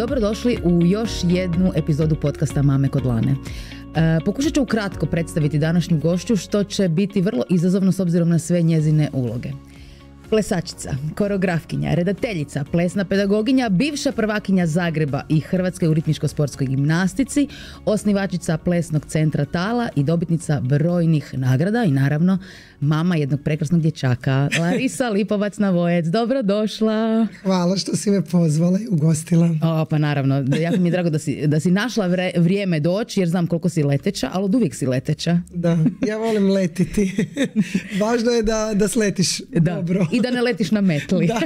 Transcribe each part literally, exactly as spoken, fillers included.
Dobrodošli u još jednu epizodu podcasta Mame kod Lane. E, pokušat ću ukratko predstaviti današnju gošću, što će biti vrlo izazovno s obzirom na sve njezine uloge. Plesačica, koreografkinja, redateljica, plesna pedagoginja, bivša prvakinja Zagreba i Hrvatske u ritmičko-sportskoj gimnastici, osnivačica plesnog centra Tala i dobitnica brojnih nagrada i naravno mama jednog prekrasnog dječaka, Larisa Lipovac Navojec. Dobrodošla. Hvala što si me pozvala i ugostila. O, pa naravno, jako mi je drago da si, da si našla vre, vrijeme doći, jer znam koliko si leteća, ali od uvijek si leteća. Da, ja volim letiti. Važno je da, da sletiš da. dobro. I da ne letiš na metli. Da.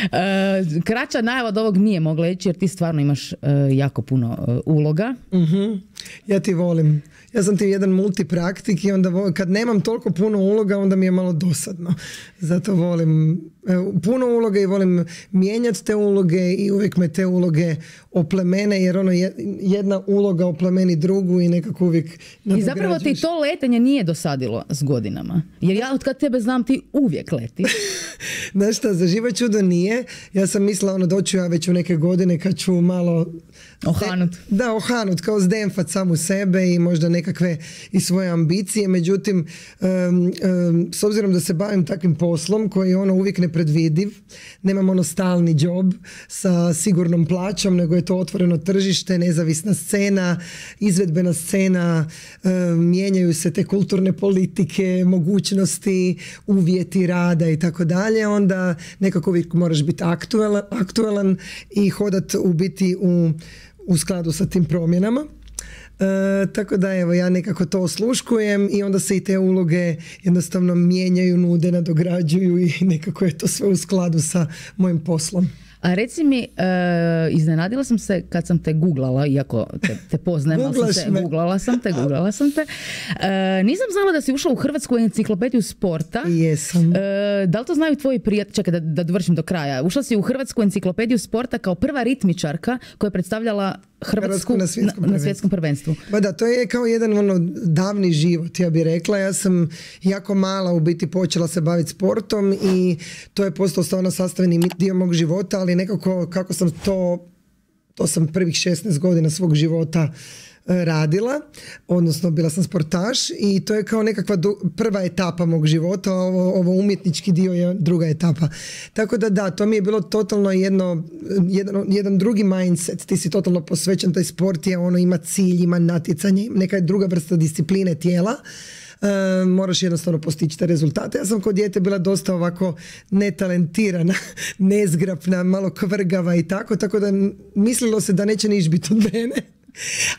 uh, kraća najava od ovog nije mogla ići, jer ti stvarno imaš uh, jako puno uh, uloga. Uh-huh. Ja ti volim. Ja sam ti jedan multipraktik i onda volim, kad nemam toliko puno uloga, onda mi je malo dosadno. Zato volim puno uloga i volim mijenjati te uloge i uvijek me te uloge oplemene, jer ono jedna uloga oplemeni drugu i nekako uvijek nadograđuješ. I zapravo ti to letenje nije dosadilo s godinama. Jer ja od kad tebe znam ti uvijek letiš. Znaš šta, za živo čudo nije. Ja sam mislila ono doću ja već u neke godine kad ću malo ohanut. Da, ohanut, kao zdemfat samu sebe i možda nekakve i svoje ambicije. Međutim, um, um, s obzirom da se bavim takvim poslom koji je ono uvijek nepredvidiv, nemam ono stalni job sa sigurnom plaćom, nego je to otvoreno tržište, nezavisna scena, izvedbena scena, um, mijenjaju se te kulturne politike, mogućnosti, uvjeti rada i tako dalje, onda nekako uvijek moraš biti aktualan, aktualan i hodat u biti u u skladu sa tim promjenama. E, tako da evo ja nekako to osluškujem i onda se i te uloge jednostavno mijenjaju, nude, nadograđuju i nekako je to sve u skladu sa mojim poslom. A reci mi, uh, iznenadila sam se kad sam te googlala, iako te, te poznajem, ali sam te, googlala sam te, googlala sam te. Uh, nisam znala da si ušla u Hrvatsku enciklopediju sporta. Jesam. Uh, da li to znaju tvoji prijatelji? Čekaj, da, da dovršim do kraja. Ušla si u Hrvatsku enciklopediju sporta kao prva ritmičarka koja je predstavljala Hrvatsku na svjetskom, na, na svjetskom prvenstvu. Pa da, to je kao jedan ono davni život, ja bih rekla. Ja sam jako mala u biti počela se baviti sportom i to je postao stvarno sastavni dio mog života, ali nekako kako sam to, to sam prvih šesnaest godina svog života radila, odnosno bila sam sportaš i to je kao nekakva du- prva etapa mog života, ovo, ovo umjetnički dio je druga etapa. Tako da da, to mi je bilo totalno jedno, jedan, jedan drugi mindset, ti si totalno posvećen, taj sport je ono, ima cilj, ima natjecanje, neka druga vrsta discipline tijela. Uh, moraš jednostavno postići te rezultate. Ja sam kod dijete bila dosta ovako netalentirana, nezgrapna, malo kvrgava i tako, tako da mislilo se da neće niš biti od mene.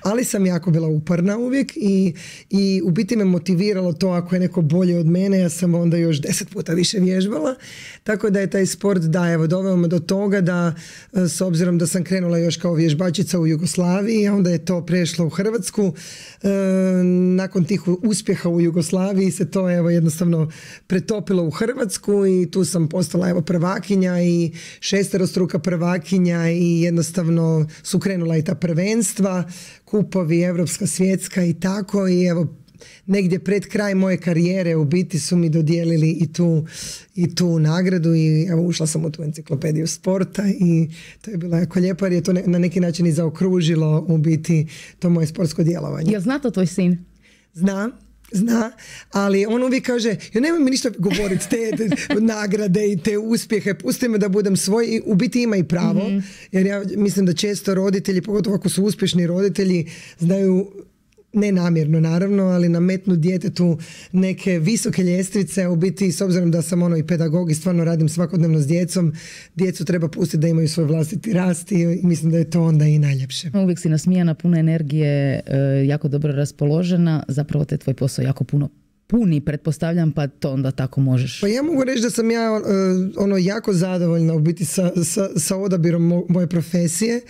Ali sam jako bila uporna uvijek i, i u biti me motiviralo to ako je neko bolje od mene, ja sam onda još deset puta više vježbala. Tako da je taj sport, da, evo, doveo me do toga da s obzirom da sam krenula još kao vježbačica u Jugoslaviji, onda je to prešlo u Hrvatsku. E, nakon tih uspjeha u Jugoslaviji se to evo jednostavno pretopilo u Hrvatsku i tu sam postala evo prvakinja i šesterostruka prvakinja i jednostavno su krenula i ta prvenstva, kupovi, evropska, svjetska i tako i evo negdje pred kraj moje karijere u biti su mi dodijelili i tu, i tu nagradu i evo ušla sam u tu enciklopediju sporta i to je bilo jako lijepo jer je to ne, na neki način i zaokružilo u biti to moje sportsko djelovanje. Jel zna to tvoj sin? Zna. Zna, ali on uvijek kaže ja nemoj mi ništa govoriti te, te nagrade i te uspjehe, pusti me da budem svoj i u biti ima i pravo, mm-hmm. jer ja mislim da često roditelji, pogotovo ako su uspješni roditelji, znaju ne namjerno naravno, ali nametnu djetetu neke visoke ljestvice, u biti s obzirom da sam ono i pedagog i stvarno radim svakodnevno s djecom, djecu treba pustiti da imaju svoj vlastiti rast i mislim da je to onda i najljepše. Uvijek si nasmijana, puno energije, jako dobro raspoložena, zapravo te tvoj posao jako puno puni, pretpostavljam, pa to onda tako možeš. Pa ja mogu reći da sam ja uh, ono jako zadovoljna u biti sa, sa, sa odabirom mo, moje profesije.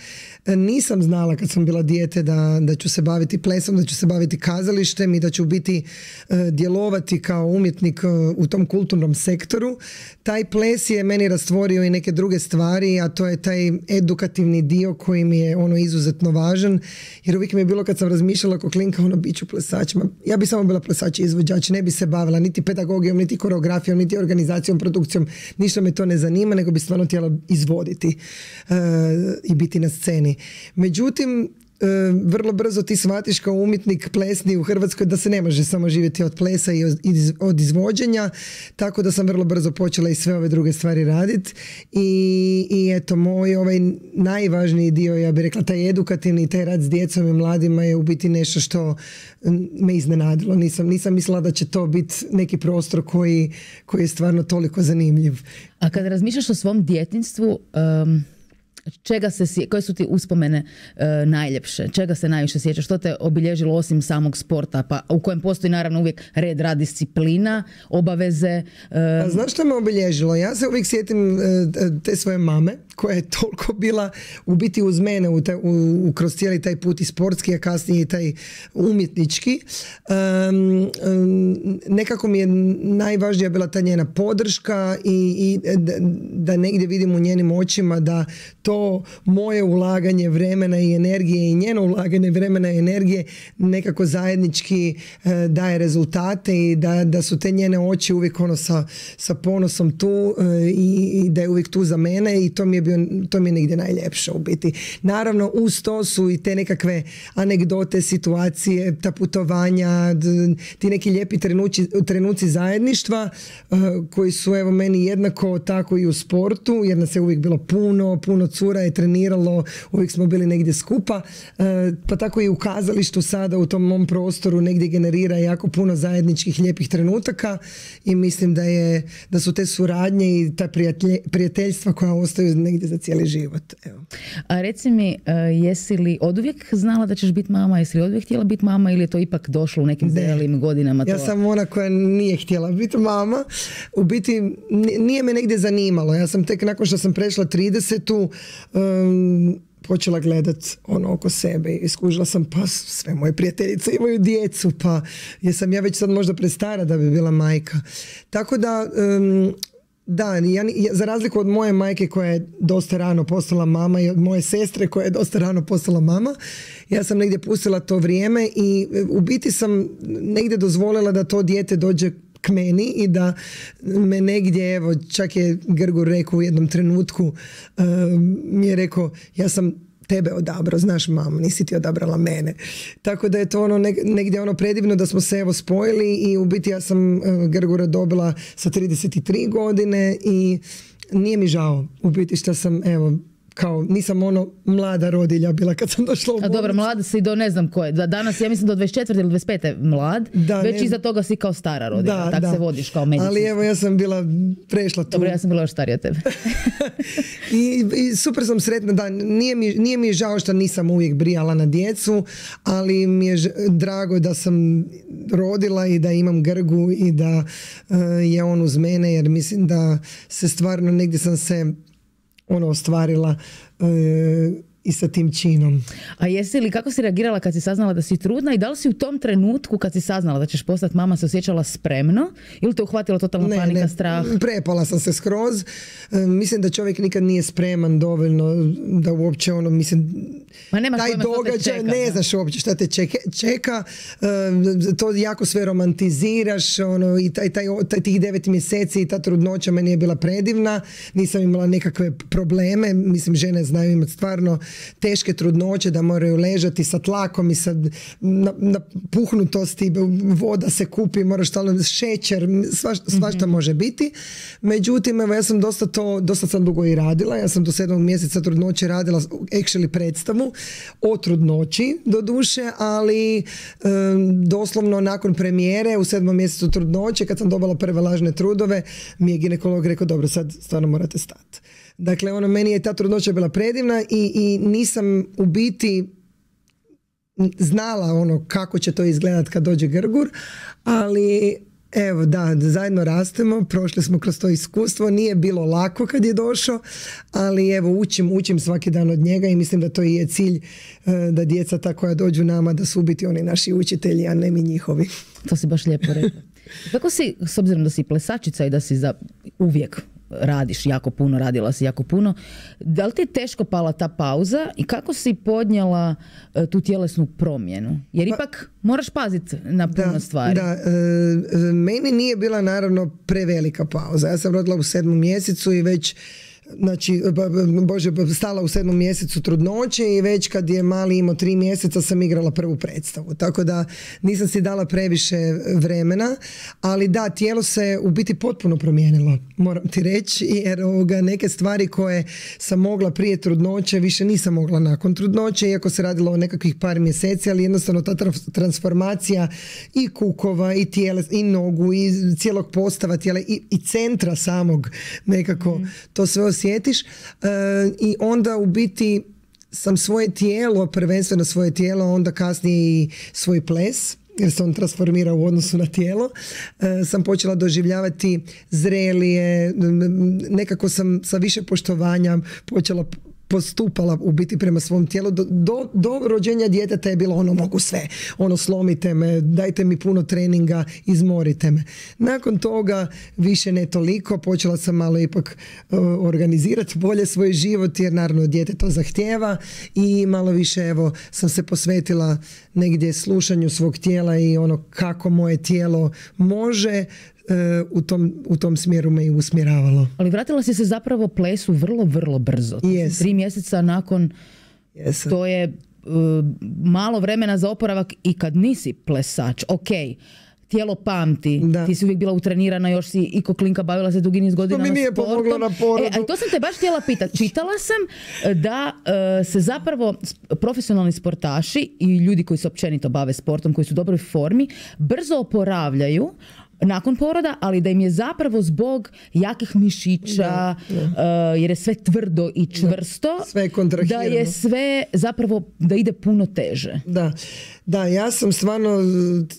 E, nisam znala kad sam bila dijete da, da ću se baviti plesom, da ću se baviti kazalištem i da ću biti uh, djelovati kao umjetnik uh, u tom kulturnom sektoru. Taj ples je meni rastvorio i neke druge stvari, a to je taj edukativni dio koji mi je ono izuzetno važan, jer uvijek mi je bilo kad sam razmišljala kao klinka, ono bit ću plesač. Ja bi samo bila plesač i izvođač znači ne bi se bavila niti pedagogijom, niti koreografijom, niti organizacijom, produkcijom, ništa me to ne zanima, nego bi stvarno htjela izvoditi uh, i biti na sceni. Međutim, Uh, vrlo brzo ti shvatiš kao umjetnik plesni u Hrvatskoj da se ne može samo živjeti od plesa i iz, od izvođenja, tako da sam vrlo brzo počela i sve ove druge stvari raditi i, i eto moj ovaj najvažniji dio, ja bih rekla taj edukativni, taj rad s djecom i mladima je u biti nešto što me iznenadilo. Nisam, nisam mislila da će to biti neki prostor koji, koji je stvarno toliko zanimljiv. A kada razmišljaš o svom djetinjstvu, um... čega se, koje su ti uspomene e, najljepše? Čega se najviše sjećaš? Što te obilježilo osim samog sporta? Pa, u kojem postoji naravno uvijek red, rad, disciplina, obaveze. E... A znaš što me obilježilo? Ja se uvijek sjetim e, te svoje mame koja je toliko bila u biti uz mene u te, u, u, kroz cijeli taj put i sportski, a kasnije i taj umjetnički. Um, um, nekako mi je najvažnija bila ta njena podrška i, i da, da negdje vidim u njenim očima da to moje ulaganje vremena i energije i njeno ulaganje vremena i energije nekako zajednički uh, daje rezultate i da, da su te njene oči uvijek ono sa, sa ponosom tu uh, i, i da je uvijek tu za mene i to mi je bio, to mi je negdje najljepše u biti. Naravno uz to su i te nekakve anegdote, situacije, ta putovanja, ti neki lijepi trenuci, trenuci zajedništva uh, koji su evo meni jednako tako i u sportu, jer nas je uvijek bilo puno, puno cura je treniralo, uvijek smo bili negdje skupa, uh, pa tako i u kazalištu sada u tom mom prostoru negdje generira jako puno zajedničkih lijepih trenutaka i mislim da je, da su te suradnje i ta prijatelj, prijateljstva koja ostaju negdje za cijeli život. Evo. A reci mi, uh, jesi li oduvijek znala da ćeš biti mama, jesi li oduvijek htjela biti mama ili je to ipak došlo u nekim zrelim godinama? To... Ja sam ona koja nije htjela biti mama. U biti nije me negdje zanimalo. Ja sam tek nakon što sam prešla tridesetu um, počela gledat ono oko sebe i skužila sam pa sve moje prijateljice imaju djecu, pa jesam ja već sad možda prestara da bi bila majka. Tako da um, da, ja, ja, za razliku od moje majke koja je dosta rano postala mama i od moje sestre koja je dosta rano postala mama, ja sam negdje pustila to vrijeme i u biti sam negdje dozvolila da to dijete dođe k meni i da me negdje, evo, čak je Grgur rekao u jednom trenutku, uh, mi je rekao, ja sam tebe odabrao, znaš mamo, nisi ti odabrala mene. Tako da je to ono negdje ono predivno da smo se evo spojili i u biti ja sam uh, Grgura dobila sa trideset tri godine i nije mi žao u biti što sam evo kao nisam ono mlada rodilja bila kad sam došla u bolnicu. A dobro, mlada si do ne znam koje. Danas ja mislim do dvadeset četvrte ili dvadeset pete mlad, da, već ne... iza toga si kao stara rodilja. Da, tak da. Se vodiš kao medicinska. Ali evo ja sam bila prešla tu. Dobro, ja sam bila još starija od tebe. I, I super sam sretna, da, nije mi, nije mi žao što nisam uvijek brijala na djecu, ali mi je drago da sam rodila i da imam Grgu i da uh, je on uz mene, jer mislim da se stvarno negdje sam se ono ostvarila e, i sa tim činom. A jesi li, kako si reagirala kad si saznala da si trudna i da li si u tom trenutku kad si saznala da ćeš postati mama se osjećala spremno ili te uhvatila totalna ne, panika, ne, strah? Prepala sam se skroz. E, mislim da čovjek nikad nije spreman dovoljno da uopće ono, mislim, Ma nema taj događaj, ne da. Znaš uopće šta te čeka, čeka e, to jako sve romantiziraš ono, i taj, taj, taj, tih devet mjeseci i ta trudnoća meni je bila predivna, nisam imala nekakve probleme, mislim žene znaju imati stvarno teške trudnoće da moraju ležati sa tlakom i sa napuhnutosti, voda se kupi, moraš stalno šećer, svašta, svašta mm-hmm. može biti. Međutim, evo ja sam dosta to, dosta sam dugo i radila, ja sam do sedmog mjeseca trudnoće radila actually predstavu o trudnoći do duše, ali um, doslovno nakon premijere u sedmom mjesecu trudnoće kad sam dobila prve lažne trudove mi je ginekolog rekao dobro sad stvarno morate stati. Dakle, ono, meni je ta trudnoća bila predivna i, i nisam u biti znala ono kako će to izgledat kad dođe Grgur, ali evo da, zajedno rastemo, prošli smo kroz to iskustvo, nije bilo lako kad je došao, ali evo učim, učim svaki dan od njega i mislim da to i je cilj da djeca ta koja dođu nama da su u biti oni naši učitelji, a ne mi njihovi. To si baš lijepo rekla. Kako si, s obzirom da si plesačica i da si za uvijek radiš jako puno, radila si jako puno. Da li ti je teško pala ta pauza i kako si podnijela uh, tu tjelesnu promjenu? Jer ipak moraš paziti na puno da, stvari. Da, e, meni nije bila naravno prevelika pauza. Ja sam rodila u sedmom mjesecu i već znači, bože, stala u sedmom mjesecu trudnoće i već kad je mali imao tri mjeseca sam igrala prvu predstavu. Tako da nisam si dala previše vremena, ali da, tijelo se u biti potpuno promijenilo, moram ti reći, jer ovoga, neke stvari koje sam mogla prije trudnoće, više nisam mogla nakon trudnoće, iako se radilo o nekakvih par mjeseci, ali jednostavno ta transformacija i kukova, i tijela, i nogu, i cijelog postava tijela, i, i centra samog nekako, mm. to sve osjetiš, e, i onda u biti sam svoje tijelo, prvenstveno svoje tijelo, onda kasnije i svoj ples, jer se on transformira u odnosu na tijelo, e, sam počela doživljavati zrelije, nekako sam sa više poštovanja počela postupala u biti prema svom tijelu. Do, do, do rođenja djeteta je bilo ono, mogu sve, ono, slomite me, dajte mi puno treninga, izmorite me. Nakon toga više ne toliko, počela sam malo ipak uh, organizirati bolje svoj život, jer naravno dijete to zahtijeva, i malo više evo sam se posvetila negdje slušanju svog tijela i ono kako moje tijelo može. U tom, u tom smjeru me i usmjeravalo. Ali vratila si se zapravo plesu vrlo, vrlo brzo. Yes. Tri mjeseca nakon, yes. to je uh, malo vremena za oporavak i kad nisi plesač. Ok, tijelo pamti, da. Ti si uvijek bila utrenirana, još si i ko klinka bavila se dugi niz godina sportom. To mi nije sportom. pomoglo na porodu. E, ali to sam te baš htjela pitati. Čitala sam da uh, se zapravo profesionalni sportaši i ljudi koji se općenito bave sportom, koji su u dobroj formi, brzo oporavljaju nakon poroda, ali da im je zapravo zbog jakih mišića, da, da. Uh, jer je sve tvrdo i čvrsto, da, sve kontrahirano, da je sve zapravo, da ide puno teže. Da, da, ja sam stvarno,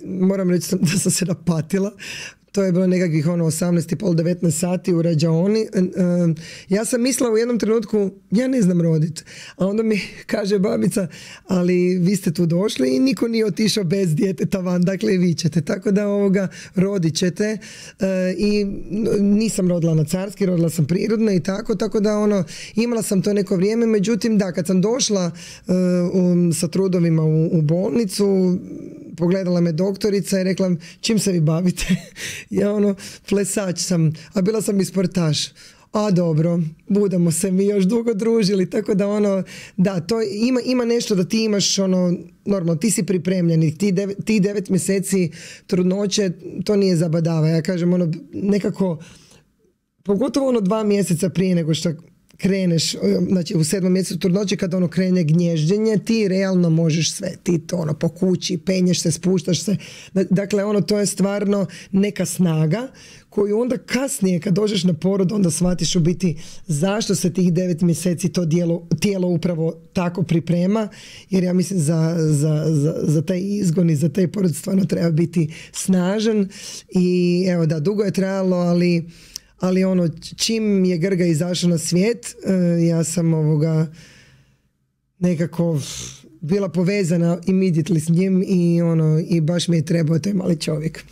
moram reći da sam se napatila. To je bilo nekakvih ono osamnaest i pol, devetnaest sati u rađaoni. Ja sam mislila u jednom trenutku, ja ne znam roditi. A onda mi kaže babica, ali vi ste tu došli i niko nije otišao bez djeteta van, dakle i vi ćete. Tako da ovoga rodit ćete. I nisam rodila na carski, rodila sam prirodno i tako, tako da ono, imala sam to neko vrijeme. Međutim, da, kad sam došla um, sa trudovima u, u bolnicu, pogledala me doktorica i rekla, čim se vi bavite? Ja ono, plesač sam, a bila sam i sportaš. A dobro, budemo se mi još dugo družili, tako da ono, da, to ima, ima nešto da ti imaš ono, normalno, ti si pripremljeni, ti devet, ti devet mjeseci trudnoće, to nije zabadava. Ja kažem ono, nekako, pogotovo ono dva mjeseca prije nego što kreneš, znači u sedmom mjesecu trudnoće kada ono krene gnježđenje, ti realno možeš sve, ti to ono po kući, penješ se, spuštaš se, dakle ono to je stvarno neka snaga koju onda kasnije kad dođeš na porod onda shvatiš u biti zašto se tih devet mjeseci to dijelo, tijelo upravo tako priprema, jer ja mislim za, za, za, za taj izgon i za taj porod stvarno treba biti snažan i evo da, dugo je trajalo, ali ali ono, čim je Grga izašao na svijet, ja sam ovoga nekako bila povezana immediately s njim i ono, i baš mi je trebao taj mali čovjek.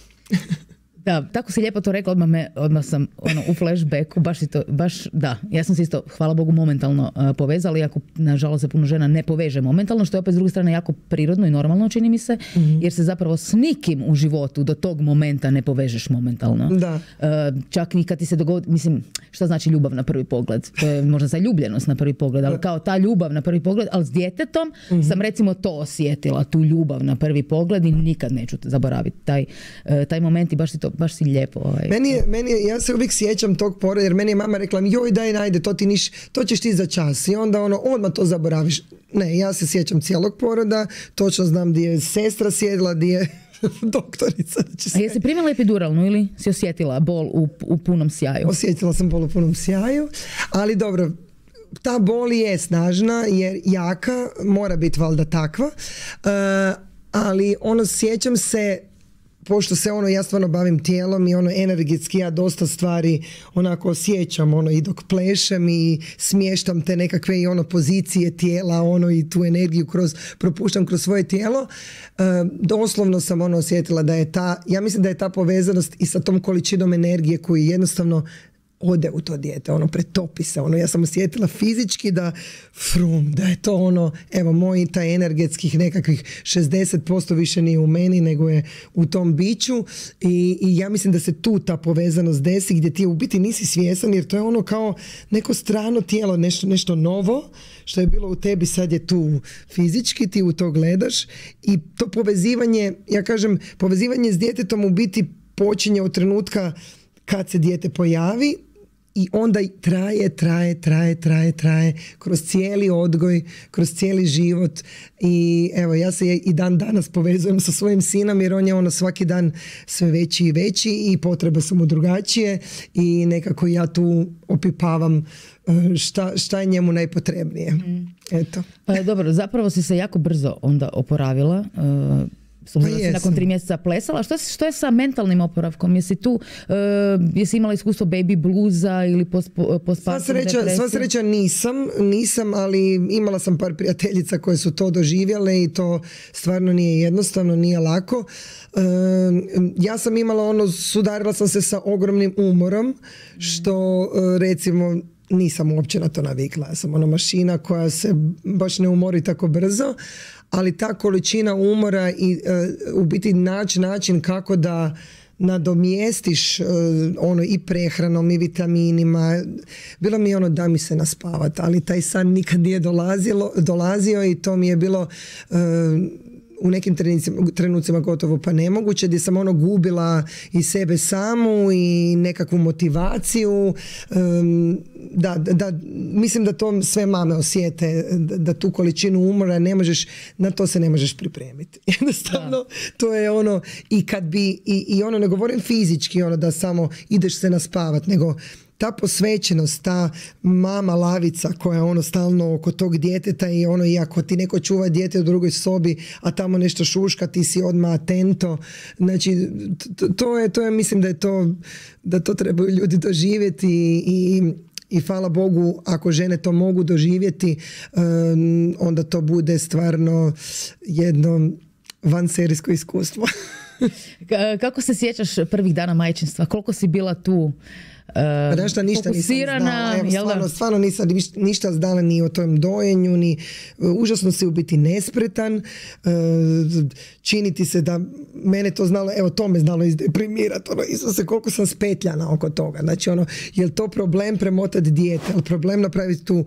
Da, tako si lijepo to rekla, odmah, me, odmah sam ono, u flashbacku, baš, to, baš da, ja sam se isto, hvala Bogu, momentalno uh, povezala, iako nažalost se puno žena ne poveže momentalno, što je opet s druge strane jako prirodno i normalno, čini mi se, mm-hmm. jer se zapravo s nikim u životu do tog momenta ne povežeš momentalno. Da. Uh, čak ni kad ti se dogodi, mislim, šta znači ljubav na prvi pogled? To je možda zaljubljenost na prvi pogled, ali kao ta ljubav na prvi pogled, ali s djetetom mm-hmm. sam recimo to osjetila, tu ljubav na prvi pogled i nikad neću zaboraviti taj, uh, taj moment i baš si to baš si lijepo. Ovaj. Meni je, meni je, ja se uvijek sjećam tog poroda, jer meni je mama rekla, joj daj najde, to ti niš, to ćeš ti za čas. I onda ono, odmah to zaboraviš. Ne, ja se sjećam cijelog poroda, točno znam gdje je sestra sjedila, gdje je doktorica. A jesi primila epiduralnu ili si osjetila bol u, u punom sjaju? Osjetila sam bol u punom sjaju, ali dobro, ta bol je snažna, jer jaka, mora biti valjda takva, uh, ali ono, sjećam se, pošto se ono, ja stvarno bavim tijelom i ono energetski ja dosta stvari onako osjećam ono i dok plešem i smještam te nekakve i ono pozicije tijela ono i tu energiju kroz, propuštam kroz svoje tijelo, e, doslovno sam ono osjetila da je ta, ja mislim da je ta povezanost i sa tom količinom energije koju jednostavno ode u to dijete, ono pretopi se, ono ja sam osjetila fizički da frum, da je to ono, evo moj taj energetskih nekakvih šezdeset posto više nije u meni nego je u tom biću i, i ja mislim da se tu ta povezanost desi gdje ti u biti nisi svjestan jer to je ono kao neko strano tijelo, nešto, nešto novo što je bilo u tebi, sad je tu fizički, ti u to gledaš i to povezivanje, ja kažem, povezivanje s djetetom u biti počinje od trenutka kad se dijete pojavi i onda traje, traje, traje, traje, traje kroz cijeli odgoj, kroz cijeli život i evo ja se i dan danas povezujem sa svojim sinom jer on je ono svaki dan sve veći i veći i potrebe su mu drugačije i nekako ja tu opipavam šta, šta je njemu najpotrebnije. Mm. Eto. Pa dobro, zapravo si se jako brzo onda oporavila. Uh... Pa si nakon tri mjeseca plesala. Što, što je sa mentalnim oporavkom? Jesi tu, uh, jesi imala iskustvo baby bluza ili postpartum depresije? Sva sreća nisam, nisam, ali imala sam par prijateljica koje su to doživjele i to stvarno nije jednostavno, nije lako. Uh, ja sam imala ono, sudarila sam se sa ogromnim umorom, što uh, recimo nisam uopće na to navikla. Ja sam ona mašina koja se baš ne umori tako brzo, ali ta količina umora i uh, u biti naći način kako da nadomjestiš uh, ono i prehranom i vitaminima. Bilo mi je ono da mi se naspavati, ali taj san nikad nije dolazilo, dolazio i to mi je bilo uh, u nekim trenucima, trenucima gotovo pa nemoguće, gdje sam ono gubila i sebe samu i nekakvu motivaciju. Um, da, da, mislim da to sve mame osjete, da, da tu količinu umora ne možeš, na to se ne možeš pripremiti. Jednostavno, da. To je ono, i kad bi, i, i ono ne govorim fizički, ono da samo ideš se naspavat, nego ta posvećenost, ta mama lavica koja je ono stalno oko tog djeteta i ono i ako ti neko čuva dijete u drugoj sobi, a tamo nešto šuška, ti si odmah atento. Znači, to je, to je, mislim da je to, da to trebaju ljudi doživjeti i, i hvala Bogu, ako žene to mogu doživjeti, um, onda to bude stvarno jedno vanserijsko iskustvo. Kako se sjećaš prvih dana majčinstva? Koliko si bila tu? Pa da šta, ništa nisam znala. Evo, stvarno, stvarno nisam ništa znala ni o tom dojenju, ni užasno si u biti nespretan. Čini ti se da mene to znalo, evo to me znalo izdeprimirati. Ono, Isuse, koliko sam spetljana oko toga. Znači, ono, je li to problem premotati dijete? Je li problem napraviti tu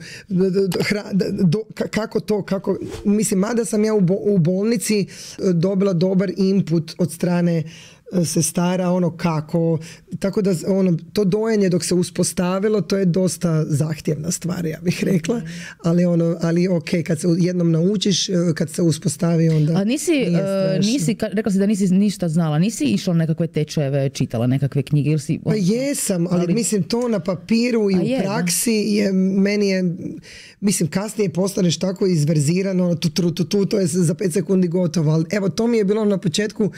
hra, do, kako to, kako, mislim, mada sam ja u, bo, u bolnici dobila dobar input od strane sestara, ono kako, tako da ono, to dojenje dok se uspostavilo, to je dosta zahtjevna stvar, ja bih rekla, ali ono, ali ok, kad se jednom naučiš, kad se uspostavi, onda a nisi, uh, nisi, rekla si da nisi ništa znala, nisi išla nekakve tečajeve, čitala nekakve knjige ili si... Pa jesam, ali, ali mislim to na papiru i u je, praksi je, meni je, mislim, kasnije postaneš tako izverzirano, tu, tu, tu, tu, to je za pet sekundi gotovo, ali evo, to mi je bilo na početku,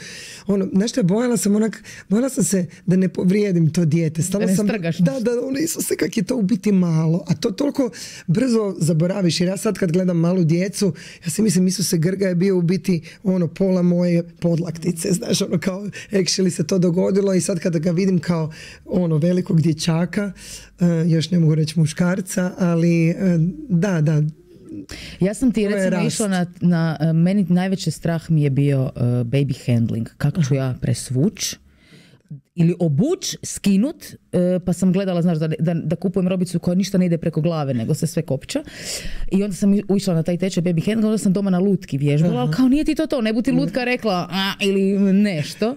ono, znaš šta, bojala sam onak, bojala sam se da ne povrijedim to dijete. Stalo da ne sam, strgaš. Da, da, ono, Isuse, kak je to u biti malo. A to toliko brzo zaboraviš, jer ja sad kad gledam malu djecu, ja se mislim, Isuse, Grga je bio u biti ono pola moje podlaktice, znaš, ono kao, actually se to dogodilo i sad kada ga vidim kao ono velikog dječaka, uh, još ne mogu reći muškarca, ali uh, da, da, ja sam ti recimo išla na, na, meni najveći strah mi je bio uh, baby handling. Kako ću ja presvuć ili obuć, skinut, uh, pa sam gledala, znaš, da, da, da kupujem robicu koja ništa ne ide preko glave, nego se sve kopča. I onda sam išla na taj tečaj baby handling, onda sam doma na lutki vježbala, ali kao nije ti to to, ne bu ti lutka rekla a, ili nešto.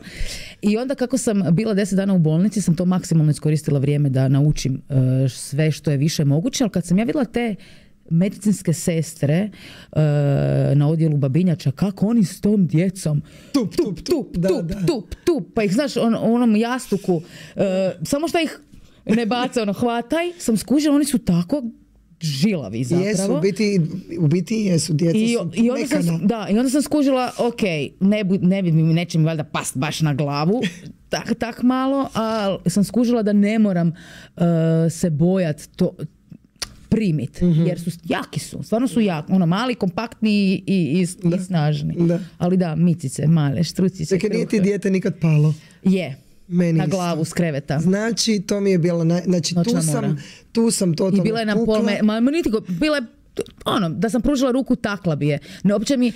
I onda kako sam bila deset dana u bolnici, sam to maksimalno iskoristila vrijeme da naučim uh, sve što je više moguće, ali kad sam ja vidjela te medicinske sestre uh, na odjelu babinjača, kako oni s tom djecom tup, tup, tup, da, tup, da. tup, tup, pa ih znaš on, onom jastuku, uh, samo što ih ne baca, ono, hvataj, sam skužila, oni su tako žilavi zapravo. Jesu, u biti, u biti jesu, djeca I, su i onda sam, da, i onda sam skužila, ok, ne, bu, ne bi mi, neće mi valjda past baš na glavu, tak, tak malo, ali sam skužila da ne moram uh, se bojat to, primit, mm-hmm. jer su jaki su, stvarno su jaki, ono mali, kompaktni i, i, i snažni. Da. Ali da, micice, male, štrucice. Dakle, nije ti dijete nikad palo? Je. Meni na isto. glavu s kreveta. Znači, to mi je bilo, naj... znači tu sam, tu sam totalno I bila je na pol me... ma, niti go, bila je ono, da sam pružila ruku, takla bi je. Ne, uopće mi, uh,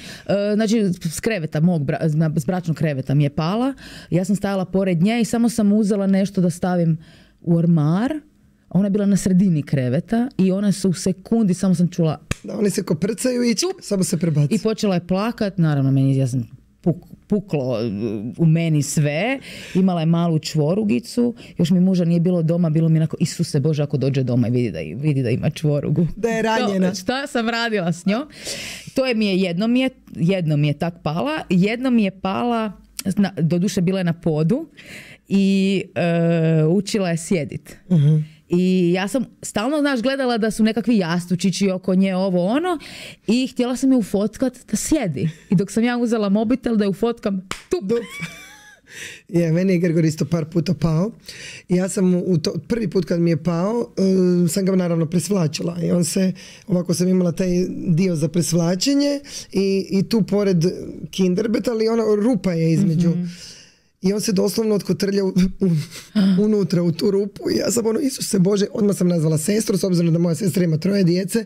znači, s kreveta, mog, bra, s bračnog kreveta mi je pala. Ja sam stajala pored nje i samo sam uzela nešto da stavim u ormar. Ona je bila na sredini kreveta i ona se u sekundi, samo sam čula... Da, oni se koprcaju i čup, samo se prebaci. I počela je plakat, naravno, meni, ja sam puk, puklo u meni sve. Imala je malu čvorugicu, još mi muža nije bilo doma, bilo mi onako, Isuse Bože, ako dođe doma i vidi da, vidi da ima čvorugu. Da je ranjena. To, šta sam radila s njom? To je mi je, jedno mi je, jedno mi je tak pala, jedno mi je pala, na, doduše bila je na podu i uh, učila je sjedit. Uh-huh. I ja sam stalno, znaš, gledala da su nekakvi jastučići oko nje, ovo ono, i htjela sam je ufotkat da sjedi. I dok sam ja uzela mobitel da je ufotkam, tup. Je, meni je Gregor isto par puta pao. Ja sam u to, prvi put kad mi je pao, uh, sam ga naravno presvlačila. I on se, ovako sam imala taj dio za presvlačenje i, i tu pored kinderbet, ali ona rupa je između. Mm-hmm. I on se doslovno otkotrlja u, u, unutra u tu rupu i ja sam ono, Isuse Bože, odmah sam nazvala sestru, s obzirom da moja sestra ima troje djece.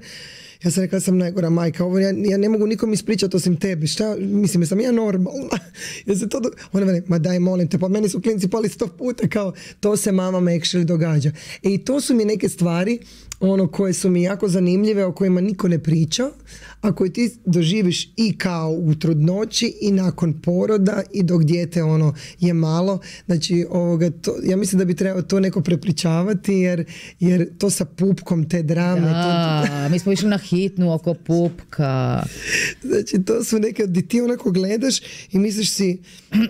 Ja sam rekla da sam najgora majka, ovo ja, ja ne mogu nikom ispričati osim tebi, šta, mislim, sam ja normalna. Ja se to do... Ona veli, ma daj, molim te, pa meni su klinci pali sto puta, kao, to se mama actually događa. E, i to su mi neke stvari, ono, koje su mi jako zanimljive, o kojima niko ne priča, a koje ti doživiš i kao u trudnoći i nakon poroda i dok dijete ono je malo. Znači, ovoga, to, ja mislim da bi trebalo to neko prepričavati, jer, jer to sa pupkom, te drame. Da, to... mi smo išli na hitnu oko pupka. Znači, to su neke, di ti onako gledaš i misliš si,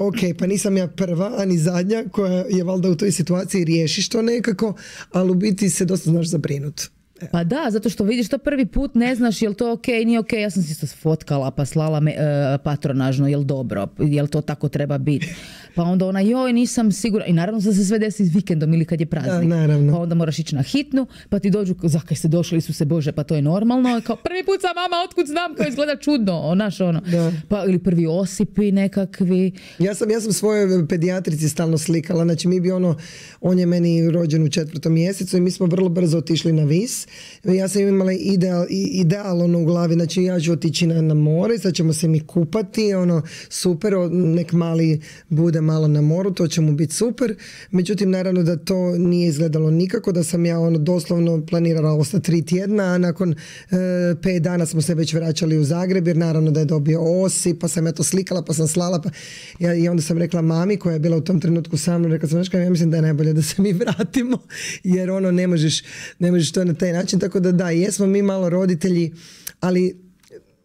ok, pa nisam ja prva, ani zadnja koja je valjda u toj situaciji, riješiš to nekako, ali u biti se dosta znaš zabrinut. Pa da, zato što vidiš to prvi put, ne znaš je li to ok, nije ok, ja sam si to fotkala pa slala me, uh, patronažno, je li dobro, je li to tako treba biti. Pa onda ona, joj, nisam sigurna. I naravno da se sve desi s vikendom ili kad je praznik. Da, naravno. Pa onda moraš ići na hitnu, pa ti dođu, zakaj ste došli, Isuse Bože, pa to je normalno. Kao, prvi put sam mama, otkud znam, kao izgleda čudno, naš ono. Da. Pa ili prvi osipi nekakvi. Ja sam, ja sam svoje pedijatrici stalno slikala, znači mi bi ono, on je meni rođen u četvrtom mjesecu i mi smo vrlo brzo otišli na Vis. Ja sam imala ideal, ideal ono u glavi, znači ja ću otići na, na more, sad ćemo se mi kupati, ono, super, nek mali bude malo na moru, to će mu biti super. Međutim, naravno da to nije izgledalo nikako, da sam ja ono doslovno planirala ostati tri tjedna, a nakon e, pet dana smo se već vraćali u Zagreb, jer naravno da je dobio osip, pa sam ja to slikala, pa sam slala, pa ja, i onda sam rekla mami koja je bila u tom trenutku sa mnom, rekla sam, znaš kaj, ja mislim da je najbolje da se mi vratimo, jer ono ne možeš, ne možeš to na taj način, tako da da, jesmo mi malo roditelji, ali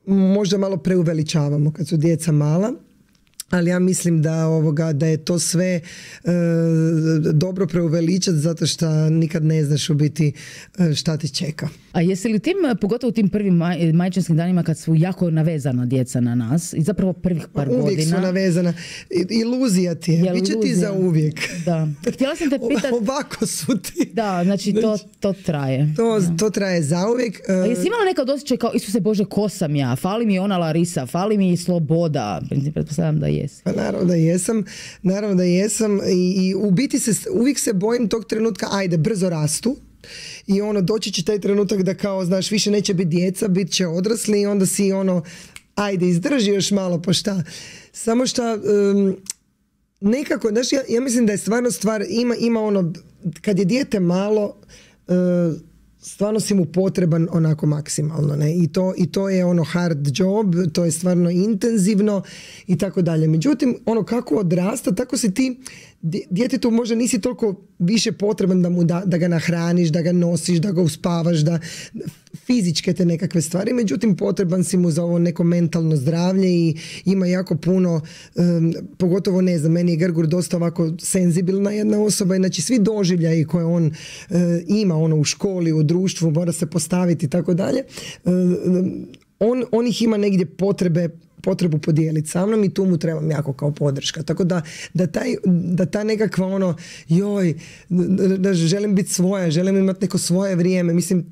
možda malo preuveličavamo kad su djeca mala. Ali ja mislim da ovoga da je to sve e, dobro preuveličati zato što nikad ne znaš u biti e, šta te čeka. A jesi li tim, pogotovo u tim prvim maj, majčinskim danima kad su jako navezana djeca na nas i zapravo prvih par uvijek godina. Uvijek su navezana. Iluzija ti je. Biće ti za uvijek. Da. Htjela sam te pitati. Ovako su ti. Da, znači to, to traje. To, to traje za uvijek. A jesi imala nekad osjećaj kao, Isuse Bože, ko sam ja? Fali mi ona Larisa, fali mi sloboda. Pretpostavljam da jesi. Pa naravno da jesam. Naravno da jesam. I, i u biti se, uvijek se bojim tog trenutka, ajde, brzo rastu. I ono, doći će taj trenutak da kao, znaš, više neće biti djeca, bit će odrasli i onda si ono, ajde, izdrži još malo, pa šta. Samo šta, um, nekako, znaš, ja, ja mislim da je stvarno stvar, ima, ima ono, kad je dijete malo, uh, stvarno si mu potreban onako maksimalno, ne? I to, i to je ono hard job, to je stvarno intenzivno i tako dalje. Međutim, ono kako odrasta, tako si ti, djetetu možda nisi toliko više potreban da mu da, da ga nahraniš, da ga nosiš, da ga uspavaš, da fizičke te nekakve stvari, međutim potreban si mu za ovo neko mentalno zdravlje i ima jako puno, um, pogotovo ne znam, meni je Grgur dosta ovako senzibilna jedna osoba, znači svi doživljaji koje on uh, ima ono u školi, u društvu, mora se postaviti i tako dalje, uh, on, on ih ima negdje potrebe potrebu podijeliti sa mnom i tu mu trebam jako kao podrška. Tako da, da, taj, da ta nekakva ono, joj, da želim biti svoja, želim imati neko svoje vrijeme, mislim,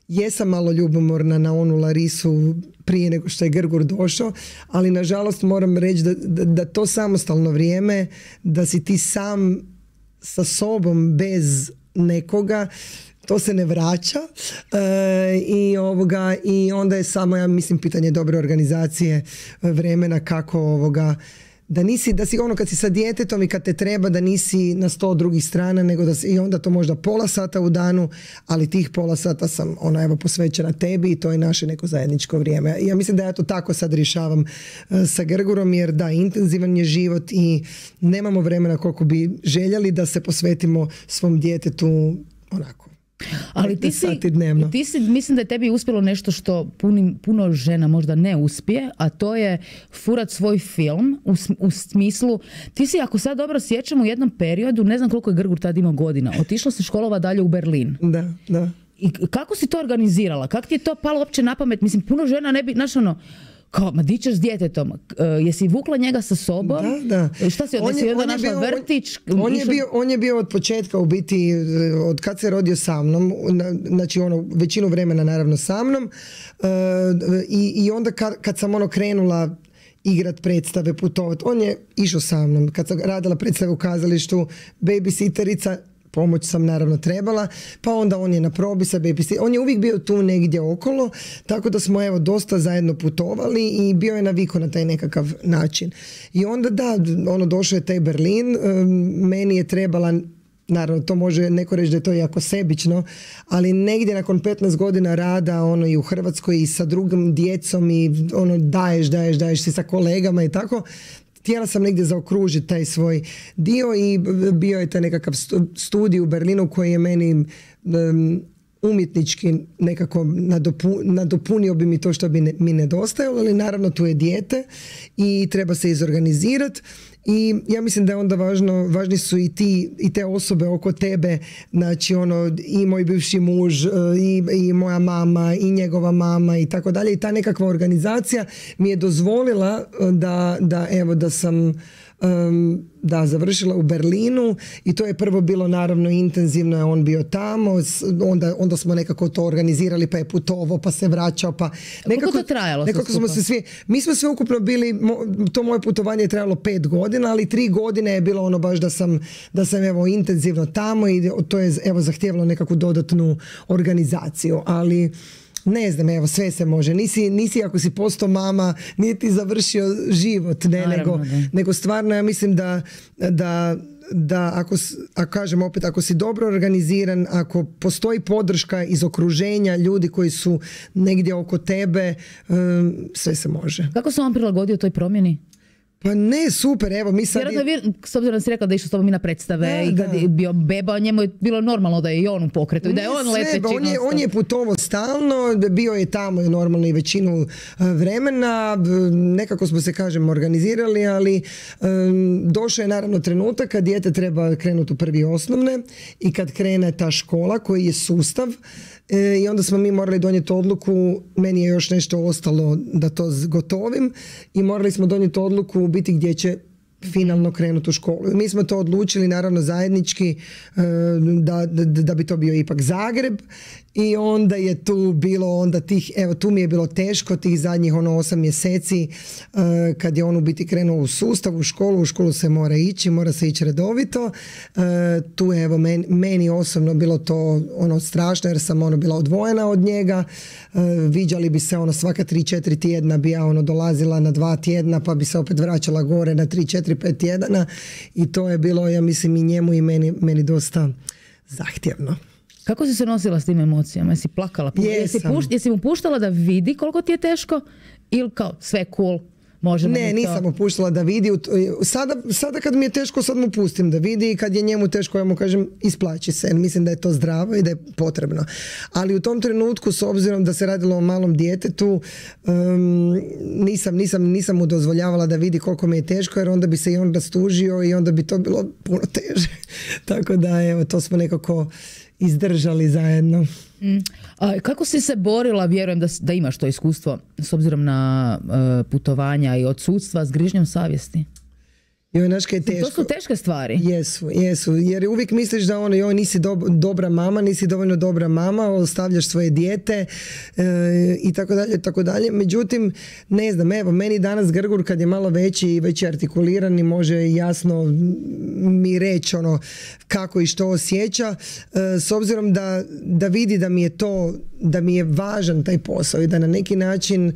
jesam malo ljubomorna na onu Larisu prije nego što je Grgur došao, ali nažalost moram reći da, da, da to samostalno vrijeme, da si ti sam sa sobom bez nekoga, to se ne vraća e, i, ovoga, i onda je samo, ja mislim, pitanje dobre organizacije vremena kako ovoga, da nisi, da si ono kad si sa djetetom i kad te treba da nisi na sto drugih strana, nego da si, i onda to možda pola sata u danu, ali tih pola sata sam ona evo posvećena tebi i to je naše neko zajedničko vrijeme. Ja mislim da ja to tako sad rješavam uh, sa Grgurom, jer da, intenzivan je život i nemamo vremena koliko bi željeli da se posvetimo svom djetetu onako. Ali ti si, ti si, mislim da je tebi uspjelo nešto što punim, puno žena možda ne uspije, a to je furat svoj film u, u smislu, ti si, ako sad dobro sjećam, u jednom periodu, ne znam koliko je Grgur tad imao godina, otišla se školova dalje u Berlin. Da, da. I kako si to organizirala? Kako ti je to palo uopće na pamet? Mislim, puno žena ne bi, znaš ono, kao, ma di ćeš s djetetom? Uh, jesi vukla njega sa sobom? Da, da. Šta si, on je, onda našla bio, vrtić? On, on, je bio, on je bio od početka, u biti, od kad se rodio sa mnom, znači ono, većinu vremena naravno sa mnom, uh, i, i onda kad, kad sam ono krenula igrat predstave, putovat, on je išao sa mnom. Kad sam radila predstave u kazalištu, babysitterica, pomoć sam naravno trebala, pa onda on je na probi sa babysitterica. On je uvijek bio tu negdje okolo, tako da smo evo dosta zajedno putovali i bio je navikao na taj nekakav način. I onda da, ono došao je taj Berlin, meni je trebala, naravno to može neko reći da je to jako sebično, ali negdje nakon petnaest godina rada ono i u Hrvatskoj i sa drugim djecom i ono daješ, daješ, daješ si sa kolegama i tako, htjela sam negdje zaokružiti taj svoj dio i bio je taj nekakav studij u Berlinu koji je meni um, umjetnički nekako nadopu, nadopunio bi mi to što bi ne, mi nedostajalo, ali naravno tu je dijete i treba se izorganizirati. I ja mislim da je onda važno, važni su i ti i te osobe oko tebe, znači ono i moj bivši muž i, i moja mama i njegova mama i tako dalje, i ta nekakva organizacija mi je dozvolila da, da evo da sam um, da završila u Berlinu i to je prvo bilo naravno intenzivno, je on bio tamo, onda, onda smo nekako to organizirali, pa je putovao, pa se vraćao, pa nekako, koliko to trajalo? Nekako smo se svi, mi smo sve ukupno bili, to moje putovanje je trajalo pet godina, ali tri godine je bilo ono baš da sam, da sam evo intenzivno tamo i to je evo zahtijevalo nekakvu dodatnu organizaciju, ali ne znam, evo, sve se može. Nisi, nisi ako si postao mama, nije ti završio život, ne, nego, nego stvarno ja mislim da, da, da ako, ako kažem opet, ako si dobro organiziran, ako postoji podrška iz okruženja, ljudi koji su negdje oko tebe, um, sve se može. Kako se on prilagodio toj promjeni? Pa ne, super, evo mi sad... Vjerojatno, s obzirom da si rekla da je išao s tobom i na predstave da, i kad da. je bio beba, njemu je bilo normalno da je i on u pokretu i da je on leteći. On je, on je putovao stalno, bio je tamo normalno i većinu vremena, nekako smo se, kažem, organizirali, ali um, došao je naravno trenutak kad dijete treba krenuti u prvi osnovne i kad krene ta škola koji je sustav, E, i onda smo mi morali donijeti odluku, meni je još nešto ostalo da to gotovim i morali smo donijeti odluku u biti gdje će finalno krenuti u školu. Mi smo to odlučili naravno zajednički da, da, da bi to bio ipak Zagreb i onda je tu bilo onda tih, evo tu mi je bilo teško tih zadnjih ono osam mjeseci kad je on u biti krenuo u sustav, u školu, u školu se mora ići, mora se ići redovito. Tu je evo meni, meni osobno bilo to ono strašno jer sam ono bila odvojena od njega. Viđali bi se ono svaka tri četiri tjedna bi ja ono dolazila na dva tjedna pa bi se opet vraćala gore na tri četiri pet tjedana i to je bilo, ja mislim, i njemu i meni, meni dosta zahtjevno. Kako si se nosila s tim emocijama? Jesi plakala? Jesi, pušt, jesi mu puštala da vidi koliko ti je teško ili kao sve cool? Možemo ne, nisam mu puštala da vidi. Sada, sada kad mi je teško, sad mu pustim da vidi i kad je njemu teško, ja mu kažem isplaći se. Mislim da je to zdravo i da je potrebno. Ali u tom trenutku, s obzirom da se radilo o malom djetetu, um, nisam, nisam, nisam mu dozvoljavala da vidi koliko mi je teško jer onda bi se i on rastužio i onda bi to bilo puno teže. Tako da, evo, to smo nekako izdržali zajedno. Mm. A kako si se borila, vjerujem da, da imaš to iskustvo s obzirom na uh, putovanja i odsudstva s grižnjom savjesti? Joj, znaš kaj je teško. To su teške stvari. Jesu, jesu. Jer uvijek misliš da ono, joj, nisi do, dobra mama, nisi dovoljno dobra mama, ostavljaš svoje dijete e, i tako dalje, tako dalje. Međutim, ne znam, evo, meni danas Grgur kad je malo veći i već je artikuliran i može jasno mi reći ono kako i što osjeća, e, s obzirom da, da vidi da mi je to, da mi je važan taj posao i da na neki način, e,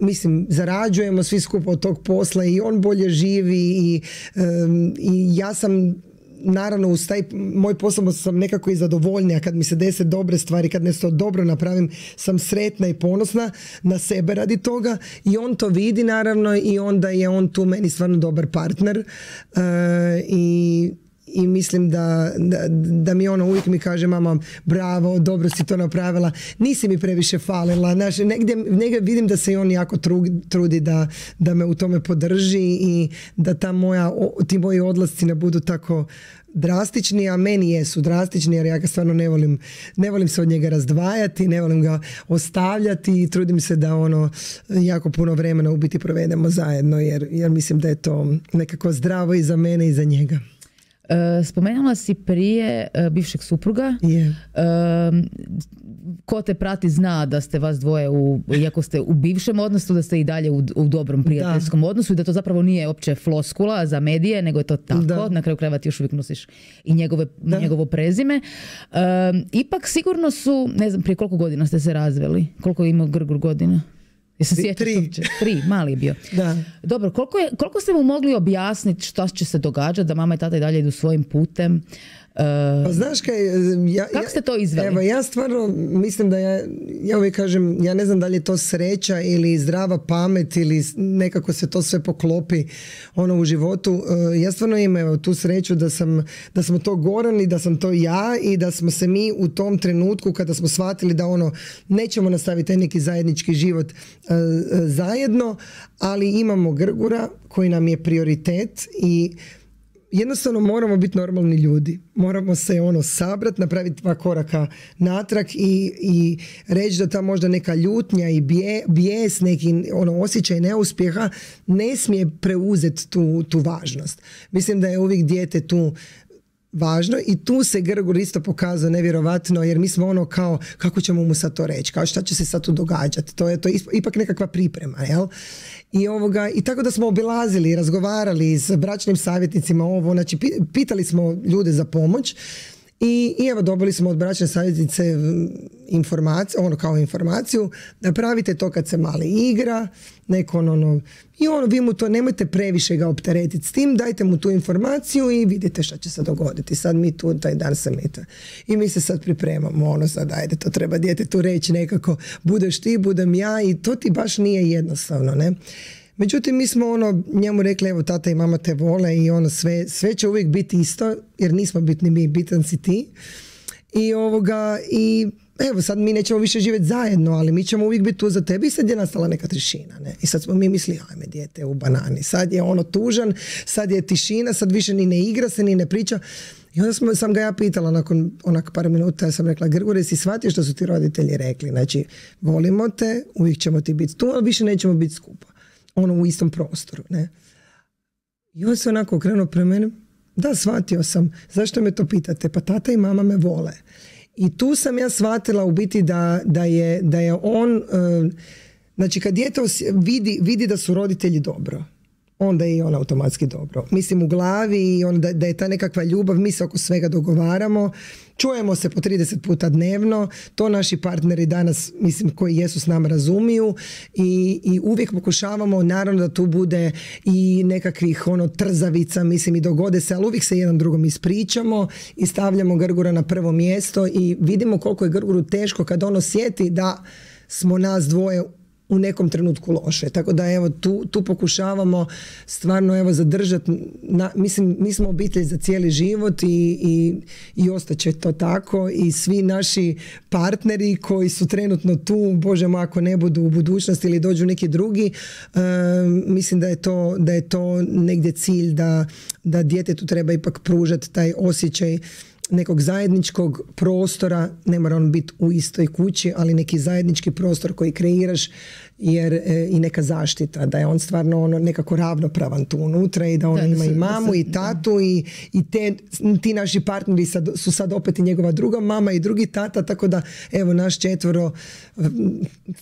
mislim, zarađujemo svi skupa od tog posla i on bolje živi i, um, i ja sam naravno uz taj moj posao sam nekako i zadovoljnija kad mi se dese dobre stvari, kad nešto dobro napravim, sam sretna i ponosna na sebe radi toga i on to vidi naravno i onda je on tu meni stvarno dobar partner uh, i i mislim da, da, da mi ono uvijek mi kaže mama bravo, dobro si to napravila, nisi mi previše falila, znaš, negdje, negdje vidim da se i on jako trudi da, da me u tome podrži i da ta moja, ti moji odlasci ne budu tako drastični, a meni jesu drastični jer ja ga stvarno ne volim, ne volim se od njega razdvajati, ne volim ga ostavljati i trudim se da ono jako puno vremena u biti provedemo zajedno jer, jer mislim da je to nekako zdravo i za mene i za njega. Spomenula si prije bivšeg supruga. Yeah. Ko te prati zna da ste vas dvoje, u, iako ste u bivšem odnosu, da ste i dalje u, u dobrom prijateljskom da. odnosu i da to zapravo nije opće floskula za medije, nego je to tako. Da. Na kraju krajeva ti još uvijek nosiš i njegove, njegovo prezime. Um, ipak sigurno su, ne znam, prije koliko godina ste se razveli? Koliko je imao Grgur godina? Jesi sjećaš? Tri. Tri, mali je bio. Da. Dobro, koliko, je, koliko ste mu mogli objasniti šta će se događati, da mama i tata i dalje idu svojim putem? Uh, pa znaš kaj, ja, kako ste to izveli? Evo, ja stvarno mislim da ja, ja uvijek kažem, ja ne znam da li je to sreća ili zdrava pamet ili nekako se to sve poklopi ono u životu. Uh, ja stvarno imam evo, tu sreću da sam, da smo to Goran i da sam to ja i da smo se mi u tom trenutku kada smo shvatili da ono nećemo nastaviti taj neki zajednički život uh, zajedno, ali imamo Grgura koji nam je prioritet i jednostavno moramo biti normalni ljudi. Moramo se ono sabrati, napraviti dva koraka natrag i, i reći da ta možda neka ljutnja i bije, bijes, neki ono osjećaj neuspjeha ne smije preuzeti tu, tu važnost. Mislim da je uvijek dijete tu važno i tu se Grgur isto pokazao nevjerovatno jer mi smo ono kao kako ćemo mu sad to reći, kao šta će se sad tu događati, to je to ipak nekakva priprema, jel? I, ovoga, i tako da smo obilazili, razgovarali s bračnim savjetnicima ovo, znači pitali smo ljude za pomoć i, i evo dobili smo od bračne savjetnice informaciju, ono kao informaciju, napravite to kad se mali igra, neko ono, i ono, vi mu to nemojte previše ga opteretiti s tim, dajte mu tu informaciju i vidite šta će se dogoditi. Sad mi tu taj dan samita. I mi se sad pripremamo, ono sad ajde, to treba djetetu reći nekako, budeš ti, budem ja i to ti baš nije jednostavno, ne? Međutim, mi smo ono njemu rekli, evo tata i mama te vole i ono sve, sve će uvijek biti isto, jer nismo bitni mi, bitan si ti. I ovoga, i evo sad mi nećemo više živjeti zajedno, ali mi ćemo uvijek biti tu za tebe i sad je nastala neka tišina, ne? I sad smo mi mislili, ajme dijete u banani, sad je ono tužan, sad je tišina, sad više ni ne igra se, ni ne priča. I onda smo, sam ga ja pitala nakon onak par minuta, ja sam rekla, Grgure, si shvatio što su ti roditelji rekli, znači volimo te, uvijek ćemo ti biti tu, ali više nećemo biti skupa, ono u istom prostoru, ne? I on se onako okrenuo prema mene, da, shvatio sam, zašto me to pitate, pa tata i mama me vole. I tu sam ja shvatila u biti da, da, je, da je on, uh, znači kad dijete vidi, vidi da su roditelji dobro, onda je i on automatski dobro. Mislim u glavi i on, da, da je ta nekakva ljubav, mi se oko svega dogovaramo, čujemo se po trideset puta dnevno, to naši partneri danas, mislim, koji jesu s nama razumiju i, i uvijek pokušavamo, naravno da tu bude i nekakvih ono trzavica, mislim i dogode se, ali uvijek se jedan drugom ispričamo i stavljamo Grgura na prvo mjesto i vidimo koliko je Grguru teško kad on osjeti da smo nas dvoje u nekom trenutku loše. Tako da evo tu, tu pokušavamo stvarno evo zadržati, na, mislim mi smo obitelj za cijeli život i, i, i ostaće to tako i svi naši partneri koji su trenutno tu, Bože moj ako ne budu u budućnosti ili dođu neki drugi, uh, mislim da je to, da je to negdje cilj da, da djetetu treba ipak pružati taj osjećaj nekog zajedničkog prostora, ne mora on biti u istoj kući, ali neki zajednički prostor koji kreiraš jer e, i neka zaštita, da je on stvarno ono nekako ravnopravan tu unutra i da on da, ima da se, i mamu da se, i tatu i, i te, ti naši partneri sad, su sad opet i njegova druga mama i drugi tata, tako da evo naš četvoro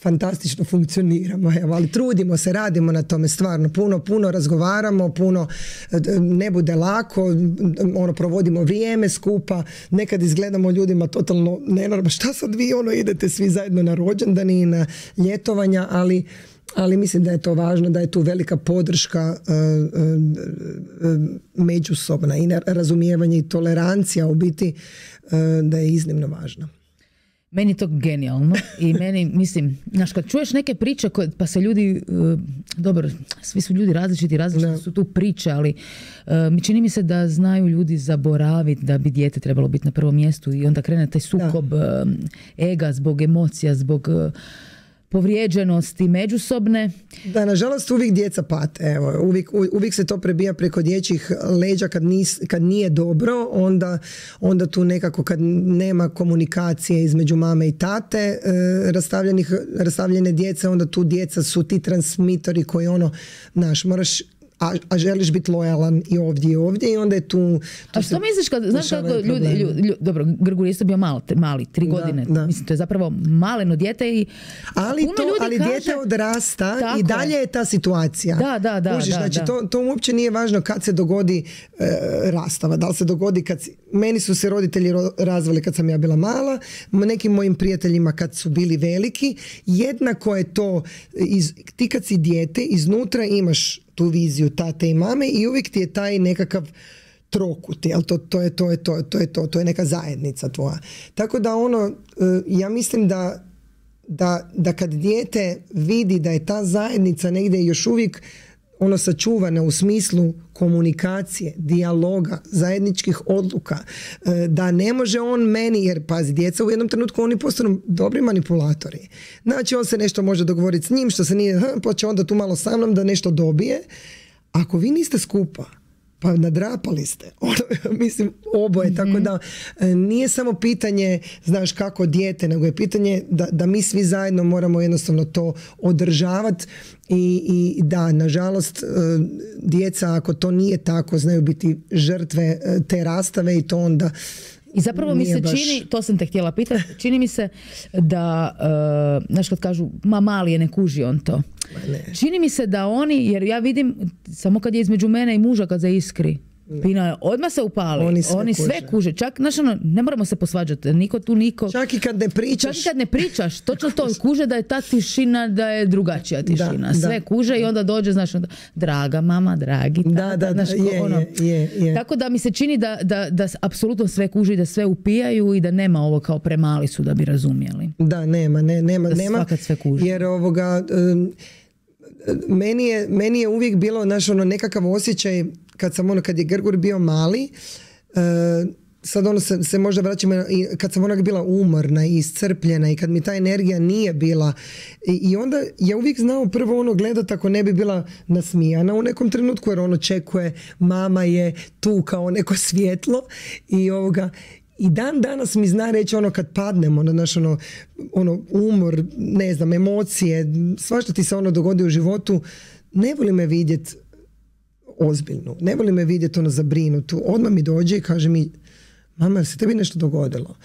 fantastično funkcioniramo, evo, ali trudimo se, radimo na tome stvarno, puno, puno razgovaramo, puno ne bude lako, ono, provodimo vrijeme skupa, nekad izgledamo ljudima totalno nenormalno, šta sad vi ono idete svi zajedno na rođendani i na ljetovanja, ali ali mislim da je to važno, da je tu velika podrška uh, uh, uh, međusobna i razumijevanje i tolerancija u biti uh, da je iznimno važna. Meni je to genijalno i meni, mislim, znaš, kad čuješ neke priče koje, pa se ljudi, uh, dobro, svi su ljudi različiti, različite no. su tu priče, ali uh, čini mi se da znaju ljudi zaboraviti da bi dijete trebalo biti na prvom mjestu i onda krene taj sukob uh, ega zbog emocija, zbog uh, povrijeđenosti međusobne. Da, nažalost uvijek djeca pate. Evo, uvijek, uvijek se to prebija preko dječjih leđa kad, nis, kad nije dobro, onda, onda tu nekako kad nema komunikacije između mame i tate e, rastavljene djece, onda tu djeca su ti transmitori koji ono, znaš, moraš A, a želiš biti lojalan i ovdje i ovdje i onda je tu... tu a što misliš kad, znaš kako ljudi, ljudi, ljudi, dobro, Grgur isto bio malo, mali, tri da, godine, da. Mislim, to je zapravo maleno dijete i ali puno to, ljudi ali kaže, dijete odrasta tako i dalje je ta situacija. Da, da, da. Užiš, da, znači, da. To, to uopće nije važno kad se dogodi e, rastava, da li se dogodi kad... Si, meni su se roditelji razvali kad sam ja bila mala, nekim mojim prijateljima kad su bili veliki, jednako je to, iz, ti kad si dijete, iznutra imaš tu viziju tate i mame i uvijek ti je taj nekakav trokut, jel? To, to, je, to, je, to, to je to, to je neka zajednica tvoja. Tako da ono, ja mislim da, da, da kad dijete vidi da je ta zajednica negdje još uvijek ono sačuvana u smislu komunikacije, dijaloga, zajedničkih odluka, da ne može on meni, jer pazi, djeca u jednom trenutku oni postanu dobri manipulatori. Znači on se nešto može dogovoriti s njim, što se nije, pa će onda tu malo sa mnom da nešto dobije. Ako vi niste skupa, pa nadrapali ste, ono, mislim oboje, mm-hmm. Tako da nije samo pitanje, znaš, kako dijete, nego je pitanje da, da mi svi zajedno moramo jednostavno to održavati i, i da, nažalost, djeca ako to nije tako, znaju biti žrtve te rastave i to onda i zapravo mi se baš... čini, to sam te htjela pitati, čini mi se da, uh, znaš kad kažu, ma mali je, ne kuži on to. Ne. Čini mi se da oni, jer ja vidim, samo kad je između mene i muža kad zaiskri, Pina, odmah se upali. Oni sve, Oni sve kuže. kuže. Čak, znaš, ono, ne moramo se posvađati. Niko tu niko... Čak i kad ne pričaš. Čak i kad ne pričaš. Točno to kuže da je ta tišina, da je drugačija tišina. Da, sve da. kuže i onda dođe, znaš, onda, draga mama, dragi tata. Da, da, znaš, da, je, ono. je, je, je. Tako da mi se čini da, da, da apsolutno sve kuže i da sve upijaju i da nema ovo kao premali su da bi razumjeli. Da, nema, ne, nema. Da nema svakad sve kuže. Jer ovoga... Um, Meni je, meni je uvijek bilo, znaš, ono, nekakav osjećaj kad sam ono, kad je Grgur bio mali, uh, sad ono se, se možda vraćamo i kad sam onak bila umorna i iscrpljena i kad mi ta energija nije bila i, i onda ja uvijek znao prvo ono gledat ako ne bi bila nasmijana u nekom trenutku jer ono očekuje, mama je tu kao neko svjetlo i ovoga. I dan danas mi zna reći ono kad padnemo na naš ono, ono umor, ne znam, emocije, svašta ti se ono dogodi u životu, ne voli me vidjeti ozbiljno, ne voli me vidjeti ono zabrinutu. Odmah mi dođe i kaže mi, mama, jel se tebi nešto dogodilo?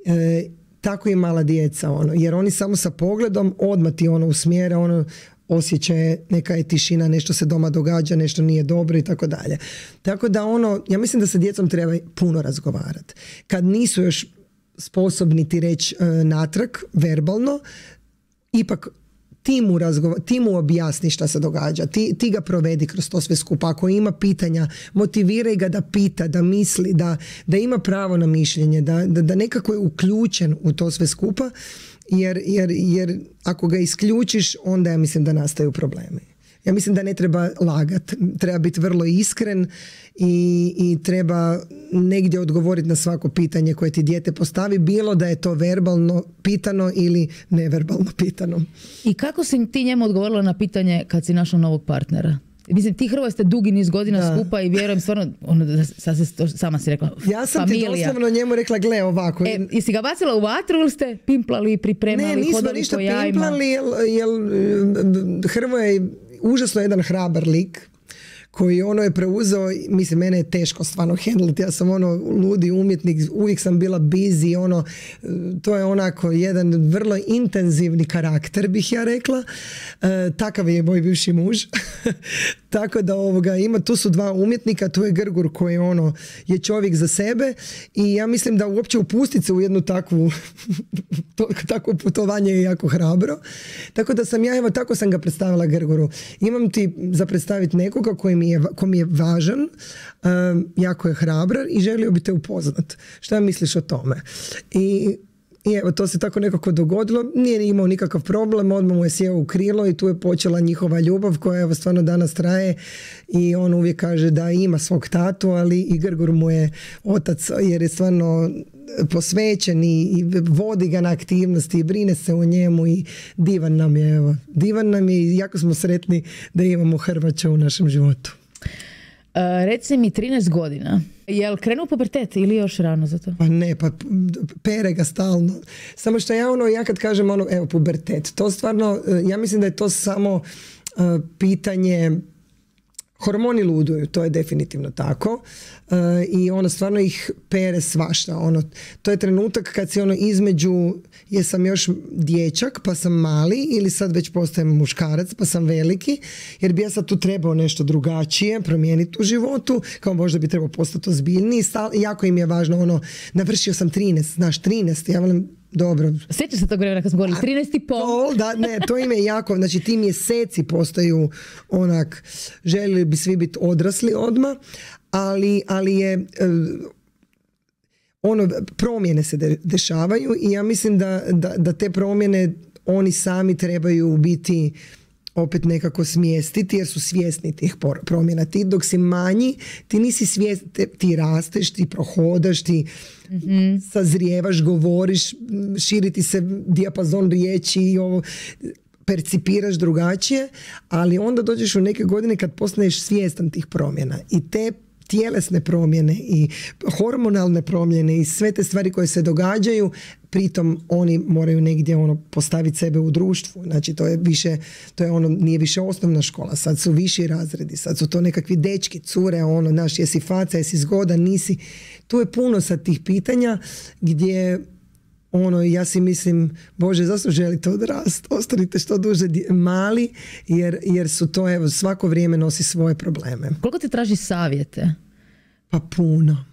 E, tako i mala djeca, ono, jer oni samo sa pogledom odmah ti ono usmjera, ono, osjećaje, neka je tišina, nešto se doma događa, nešto nije dobro i tako dalje. Tako da ono, ja mislim da sa djecom treba puno razgovarati. Kad nisu još sposobni ti reći e, natrag, verbalno, ipak ti mu, razgova, ti mu objasni šta se događa, ti, ti ga provedi kroz to sve skupa. Ako ima pitanja, motiviraj ga da pita, da misli, da, da ima pravo na mišljenje, da, da, da nekako je uključen u to sve skupa. Jer, jer, jer ako ga isključiš, onda ja mislim da nastaju problemi. Ja mislim da ne treba lagati, treba biti vrlo iskren i, i treba negdje odgovoriti na svako pitanje koje ti dijete postavi, bilo da je to verbalno pitano ili neverbalno pitano. I kako si ti njemu odgovorila na pitanje kad si našla novog partnera? Mislim, ti Hrvoje ste dugi niz godina da. skupa i vjerujem stvarno, ono, da sad se to, sama si rekla, ja sam familija. ti doslovno njemu rekla, gle ovako. E, jesi ga bacila u vatru ili ste pimplali, pripremali, ne, hodali ništa po jajima? pimplali, jer, jer Hrvoje je užasno jedan hrabar lik koji ono je preuzeo, mislim, mene je teško stvarno handliti, ja sam ono ludi umjetnik, uvijek sam bila busy, ono, to je onako jedan vrlo intenzivni karakter, bih ja rekla, e, takav je moj bivši muž, tako da ovoga ima, tu su dva umjetnika, tu je Grgur koji ono je čovjek za sebe i ja mislim da uopće upustiti se u jednu takvu to, takvo putovanje je jako hrabro, tako da sam ja, evo tako sam ga predstavila Grguru, imam ti za predstaviti nekoga koji mi je, ko mi je važan, um, jako je hrabran i želio bi te upoznat. Šta misliš o tome? I, i evo, to se tako nekako dogodilo, nije imao nikakav problem, odmah mu je sjeo u krilo i tu je počela njihova ljubav koja evo stvarno danas traje i on uvijek kaže da ima svog tatu, ali i Grgur mu je otac jer je stvarno posvećen i, i vodi ga na aktivnosti i brine se o njemu i divan nam je, evo, divan nam je i jako smo sretni da imamo Hrvaća u našem životu. Uh, reci mi, trinaest godina, je li krenuo pubertet ili još rano za to? Pa ne, pa pere ga stalno. Samo što ja ono, ja kad kažem ono, evo, pubertet, to stvarno, ja mislim da je to samo uh, pitanje, hormoni luduju, to je definitivno tako uh, i ono stvarno ih pere svašta. Ono, to je trenutak kad si ono između, jesam još dječak pa sam mali ili sad već postajem muškarac pa sam veliki, jer bi ja sad tu trebao nešto drugačije promijeniti u životu, kao možda bi trebao postati ozbiljniji. Stal, jako im je važno ono, navršio sam trinaest, znaš, trinaest, ja volim. Dobro. Sjeća se tog vremena kad smo govorili trinaest i pol. Da, ne, to im je jako, znači ti mjeseci postaju onak, željeli bi svi biti odrasli odmah, ali, ali je ono, promjene se de, dešavaju i ja mislim da, da, da te promjene oni sami trebaju biti opet nekako smjestiti jer su svjesni tih promjena. Ti dok si manji, ti nisi svjesni, ti rasteš, ti prohodaš, ti mm-hmm. sazrijevaš, govoriš, širiti se dijapazon riječi i ovo, percipiraš drugačije, ali onda dođeš u neke godine kad postaneš svjestan tih promjena i te tjelesne promjene i hormonalne promjene i sve te stvari koje se događaju, pritom oni moraju negdje ono postaviti sebe u društvu. Znači to je više, to je ono, nije više osnovna škola, sad su viši razredi, sad su to nekakvi dečki, cure, ono, znaš, jesi faca, jesi zgodan, nisi. Tu je puno sad tih pitanja gdje ono, ja si mislim, Bože, zašto želite odrast? Ostanite što duže mali, jer, jer su to, evo, svako vrijeme nosi svoje probleme. Koliko ti traži savjete? Pa puno.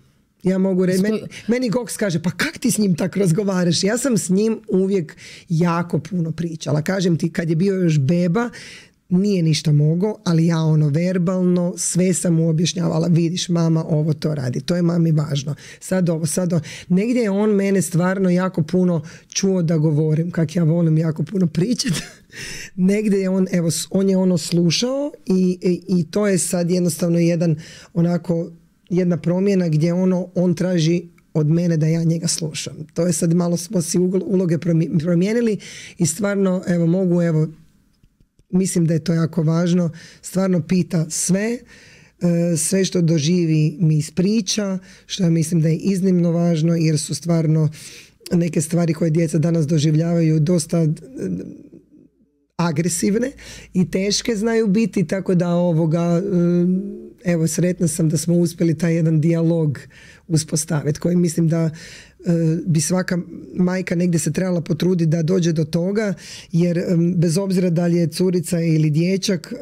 Ja mogu reći, meni, meni Goks kaže, pa kak ti s njim tako razgovaraš? Ja sam s njim uvijek jako puno pričala. Kažem ti, kad je bio još beba, nije ništa mogao, ali ja ono verbalno sve sam mu objašnjavala, vidiš mama ovo to radi, to je mami važno, sad ovo, sad ovo. Negdje je on mene stvarno jako puno čuo da govorim, kak ja volim jako puno pričati. Negdje je on, evo, on je ono slušao i, i, i to je sad jednostavno jedan onako, jedna promjena gdje ono, on traži od mene da ja njega slušam. To je sad malo smo si uloge promijenili i stvarno, evo, mogu, evo, mislim da je to jako važno, stvarno pita sve, sve što doživi mi ispriča, što ja mislim da je iznimno važno jer su stvarno neke stvari koje djeca danas doživljavaju dosta agresivne i teške znaju biti, tako da ovoga, evo, sretna sam da smo uspjeli taj jedan dijalog uspostaviti koji mislim da bi svaka majka negdje se trebala potruditi da dođe do toga, jer bez obzira da li je curica ili dječak,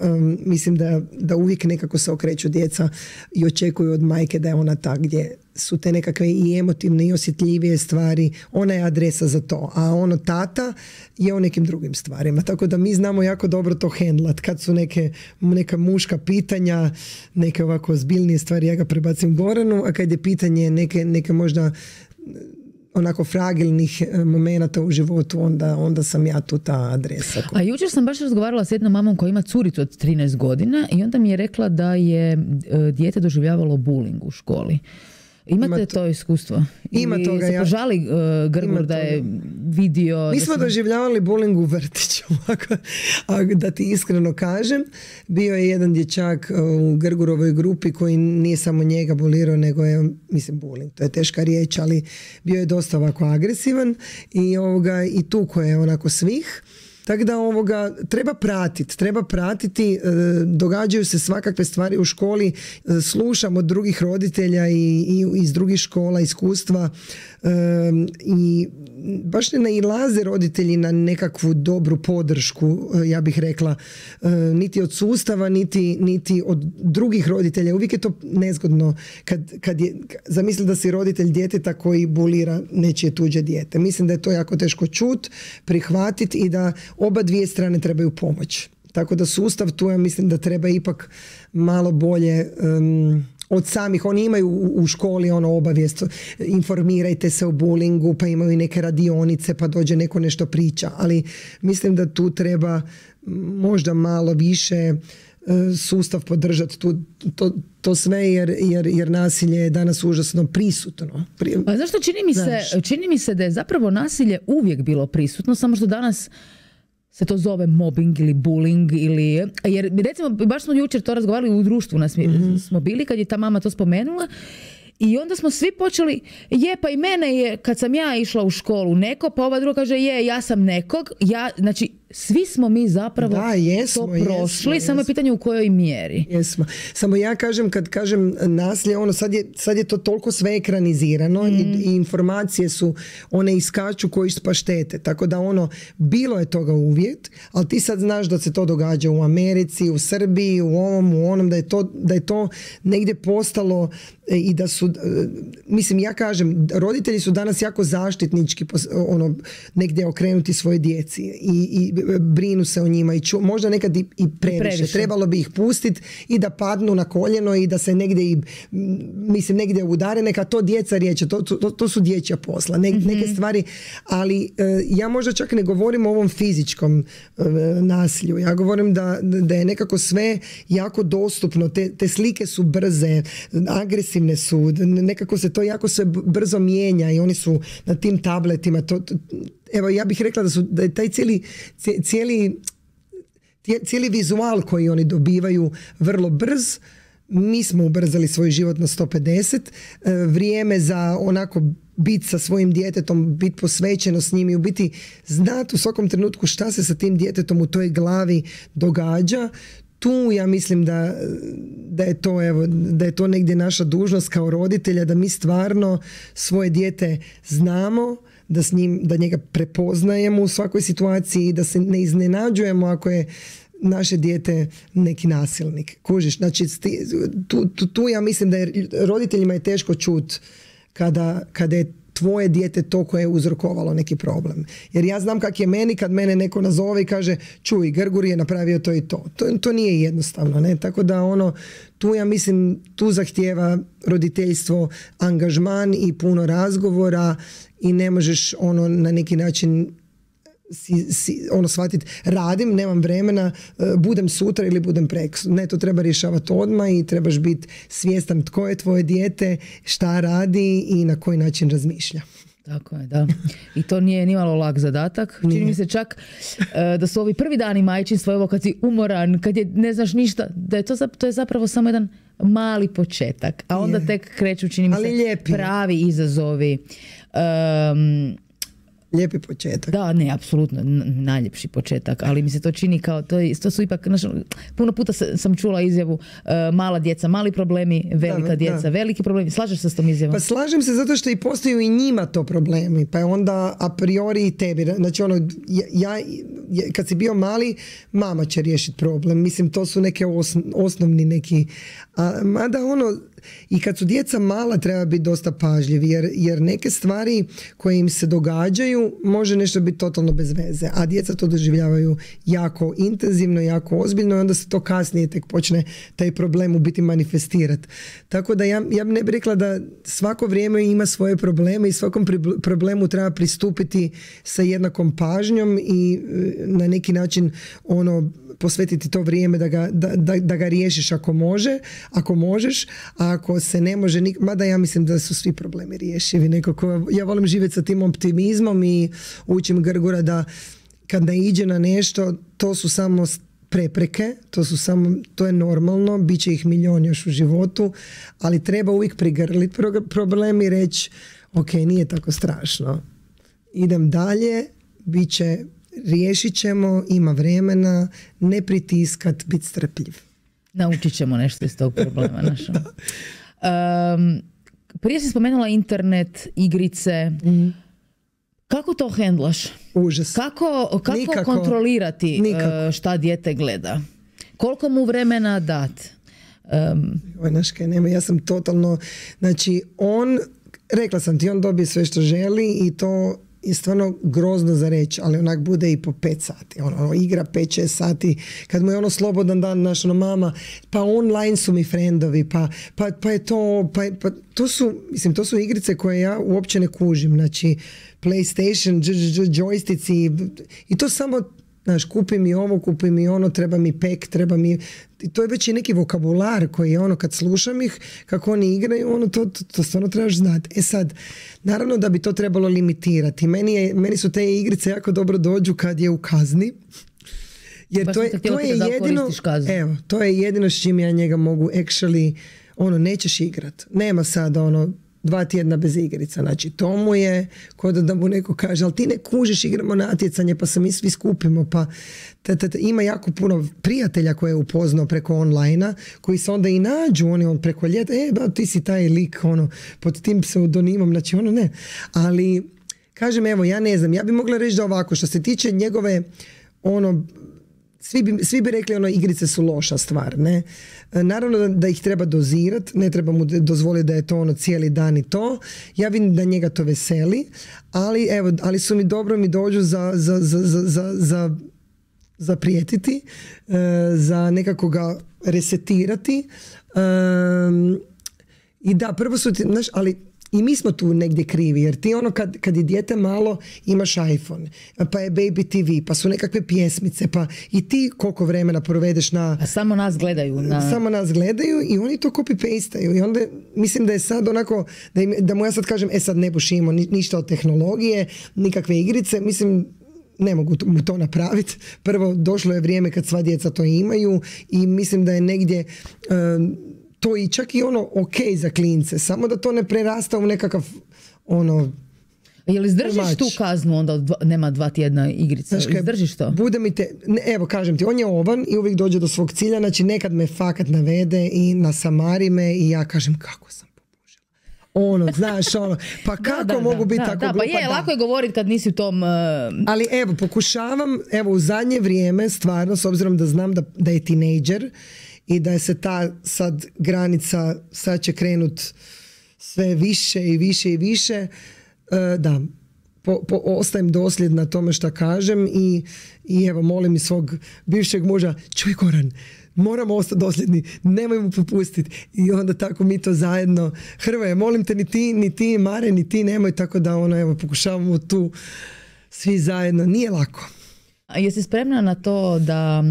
mislim da, da uvijek nekako se okreću djeca i očekuju od majke da je ona ta gdje su te nekakve i emotivne i osjetljivije stvari, ona je adresa za to, a ono tata je o nekim drugim stvarima, tako da mi znamo jako dobro to hendlat, kad su neke, neka muška pitanja, neke ovako zbiljnije stvari, ja ga prebacim Goranu, a kad je pitanje neke, neke možda onako fragilnih momenata u životu, onda, onda sam ja tu ta adresa. A jučer sam baš razgovarala s jednom mamom koja ima curicu od trinaest godina i onda mi je rekla da je dijete doživljavalo bullying u školi. Imate Ima to iskustvo? Ima Ili toga, se ja- požali uh, Grgur da je vidio... Mi da smo se- doživljavali bullying u vrtiću, ako, ako da ti iskreno kažem. Bio je jedan dječak u Grgurovoj grupi koji nije samo njega bulirao, nego je, mislim, bullying, to je teška riječ, ali bio je dosta ovako agresivan i, ovoga, i tuko je onako svih. Tako da ovoga treba pratiti, treba pratiti, e, događaju se svakakve stvari u školi, e, slušam od drugih roditelja i, i iz drugih škola iskustva e, i baš ne nailaze roditelji na nekakvu dobru podršku, e, ja bih rekla, e, niti od sustava, niti, niti od drugih roditelja. Uvijek je to nezgodno kad, kad je, zamisli da si roditelj djeteta koji bulira nečije tuđe dijete. Mislim da je to jako teško čut, prihvatiti i da oba dvije strane trebaju pomoć. Tako da sustav tu, ja mislim da treba ipak malo bolje um, od samih. Oni imaju u, u školi ono obavijest, informirajte se o bullyingu, pa imaju i neke radionice, pa dođe neko nešto priča. Ali mislim da tu treba možda malo više uh, sustav podržati tu, to, to sve jer, jer, jer nasilje je danas užasno prisutno. Pri... Pa zašto čini mi, se, čini mi se da je zapravo nasilje uvijek bilo prisutno, samo što danas se to zove mobbing ili bullying ili, jer recimo baš smo jučer to razgovarali u društvu nas mm-hmm. smo bili kad je ta mama to spomenula i onda smo svi počeli, je pa i mene je kad sam ja išla u školu neko, pa ova druga kaže je ja sam nekog, ja, znači svi smo mi zapravo da, jesmo, to prošli, jesmo, samo je jesmo. pitanje u kojoj mjeri. Jesmo. Samo ja kažem, kad kažem nasilje, ono sad je, sad je to toliko sve ekranizirano mm. i, i informacije su, one iskaču koji pa štete. Tako da ono, bilo je toga uvijek, ali ti sad znaš da se to događa u Americi, u Srbiji, u ovom, u onom, da je to, da je to negdje postalo i da su, mislim, ja kažem, roditelji su danas jako zaštitnički ono, negdje okrenuti svoje djeci i, i brinu se o njima i ču, možda nekad i, i previše. previše. Trebalo bi ih pustiti i da padnu na koljeno i da se negdje i, mislim, negdje udare, neka to djeca riječe, to, to, to su dječja posla, ne, mm-hmm. neke stvari, ali ja možda čak ne govorim o ovom fizičkom nasilju, ja govorim da, da je nekako sve jako dostupno, te, te slike su brze, agresivne su, nekako se to jako sve brzo mijenja i oni su na tim tabletima, to, to, evo ja bih rekla da su da je taj cijeli, cijeli, cijeli vizual koji oni dobivaju vrlo brz. Mi smo ubrzali svoj život na sto pedeset, vrijeme za onako biti sa svojim djetetom, biti posvećeno s njim i u biti znati u svakom trenutku šta se sa tim djetetom u toj glavi događa. Tu ja mislim da, da, je to, evo, da je to negdje naša dužnost kao roditelja, da mi stvarno svoje dijete znamo, da, s njim, da njega prepoznajemo u svakoj situaciji i da se ne iznenađujemo ako je naše dijete neki nasilnik. Kužiš, znači tu, tu, tu ja mislim da je roditeljima je teško čut kada, kada je tvoje dijete to koje je uzrokovalo neki problem. Jer ja znam kak je meni kad mene neko nazove i kaže čuj, Grgur je napravio to i to. To, to nije jednostavno. Ne? Tako da ono, tu ja mislim, tu zahtijeva roditeljstvo angažman i puno razgovora i ne možeš ono na neki način Si, si, ono shvatiti, radim, nemam vremena, budem sutra ili budem preko. Ne, to treba rješavati odmah i trebaš biti svjestan tko je tvoje dijete, šta radi i na koji način razmišlja. Tako je, da. I to nije nimalo lak zadatak. Čini mi se čak uh, da su ovi prvi dani majčinstva, evo kad si umoran, kad je ne znaš ništa, da je to, to je zapravo samo jedan mali početak. A onda je. Tek kreću, čini mi se, lijepi. Pravi izazovi. Um, Lijepi početak. Da, ne, apsolutno, najljepši početak, ali mi se to čini kao, to, to su ipak, znaš, puno puta sam čula izjavu uh, mala djeca, mali problemi, velika da, djeca, da. veliki problemi. Slažeš se s tom izjavom? Pa slažem se zato što i postaju i njima to problemi, pa je onda a priori i tebi. Znači ono, ja, ja kad si bio mali, mama će riješiti problem. Mislim, to su neke osn, osnovni neki, a, mada ono, i kad su djeca mala treba biti dosta pažljivi jer, jer neke stvari koje im se događaju može nešto biti totalno bez veze, a djeca to doživljavaju jako intenzivno, jako ozbiljno i onda se to kasnije tek počne taj problem u biti manifestirati. Tako da ja, ja ne bih rekla da svako vrijeme ima svoje probleme i svakom problemu treba pristupiti sa jednakom pažnjom i na neki način ono posvetiti to vrijeme da ga, da, da, da ga riješiš ako može, ako možeš, a ako se ne može, nik- mada ja mislim da su svi problemi riješivi nekako, ja volim živjeti sa tim optimizmom i učim Grgura da kad naiđe na nešto, to su samo prepreke, to su samo, to je normalno, bit će ih milion još u životu, ali treba uvijek prigrliti problem i reći ok, nije tako strašno, idem dalje, bit će, riješit ćemo, ima vremena, ne pritiskat, biti strpljiv. Naučit ćemo nešto iz tog problema našom. Um, prije si spomenula internet, igrice. Mm. Kako to hendlaš? Užas. Kako, kako Nikako. kontrolirati Nikako. šta dijete gleda? Koliko mu vremena dat? Um, Oj, znaš kaj, nema, ja sam totalno, znači on, rekla sam ti, on dobije sve što želi i to je stvarno grozno za reći, ali onak bude i po pet sati. Ono, ono igra pet šest sati, kad mu je ono slobodan dan, naš ono mama, pa online su mi friendovi, pa, pa, pa je to, pa, pa to su, mislim, to su igrice koje ja uopće ne kužim. Znači, PlayStation, joysticki i to samo, znaš, kupi mi ovo, kupi mi ono, treba mi pek, treba mi... I to je već i neki vokabular koji je ono, kad slušam ih, kako oni igraju, ono, to, to, to stvarno trebaš znati. E sad, naravno da bi to trebalo limitirati. Meni, je, meni su te igrice jako dobro dođu kad je u kazni. Jer Baš to je, to je jedino... Evo, to je jedino s čim ja njega mogu actually... Ono, nećeš igrat. Nema sad ono... dva tjedna bez igrica, znači to mu je kod da mu neko kaže, ali ti ne kužiš, igramo natjecanje pa se mi svi skupimo, pa t, t, t, ima jako puno prijatelja koje je upoznao preko online-a, koji se onda i nađu, oni on preko ljeta, e ba ti si taj lik ono, pod tim pseudonimom, znači ono ne, ali kažem evo, ja ne znam, ja bi mogla reći da ovako, što se tiče njegove ono, Svi bi, svi bi rekli ono, igrice su loša stvar, ne? Naravno da, da ih treba dozirati, ne treba mu dozvoliti da je to ono cijeli dan i to. Ja vidim da njega to veseli, ali evo, ali su mi dobro mi dođu za, za, za, za, za, za prijetiti, za nekako ga resetirati. I da, prvo su ti, znaš, ali i mi smo tu negdje krivi, jer ti ono kad, kad je dijete malo imaš iPhone, pa je Baby T V, pa su nekakve pjesmice, pa i ti koliko vremena provedeš na... A samo nas gledaju. Na... Samo nas gledaju i oni to copy-pastaju i onda mislim da je sad onako, da, im, da mu ja sad kažem, e sad ne bušimo ni, ništa od tehnologije, nikakve igrice, mislim, ne mogu mu to napraviti. Prvo, došlo je vrijeme kad sva djeca to imaju i mislim da je negdje... Um, to i čak i ono ok za klince, samo da to ne prerasta u nekakav ono... Jel izdržiš tu kaznu onda od dva, nema dva tjedna igrica? Znaš, izdržiš to? Bude mi te, ne, evo kažem ti, on je ovan i uvijek dođe do svog cilja, znači nekad me fakat navede i nasamari me i ja kažem kako sam popužila. Ono, znaš, ono, pa kako da, da, mogu biti tako da, glupa? Pa je, da. Lako je govoriti kad nisi u tom... Uh... Ali evo, pokušavam, evo u zadnje vrijeme, stvarno, s obzirom da znam da, da je tinejdžer, i da je se ta sad granica, sad će krenut sve više i više i više, e, da, po, po, ostajem dosljedna tome što kažem i, i evo molim i svog bivšeg muža, čuj Goran, moramo ostati dosljedni, nemoj mu popustiti i onda tako mi to zajedno, Hrvoje, molim te, ni ti, ni ti Mare, ni ti nemoj, tako da ono, evo, pokušavamo tu svi zajedno, nije lako. A jesi spremna na to da,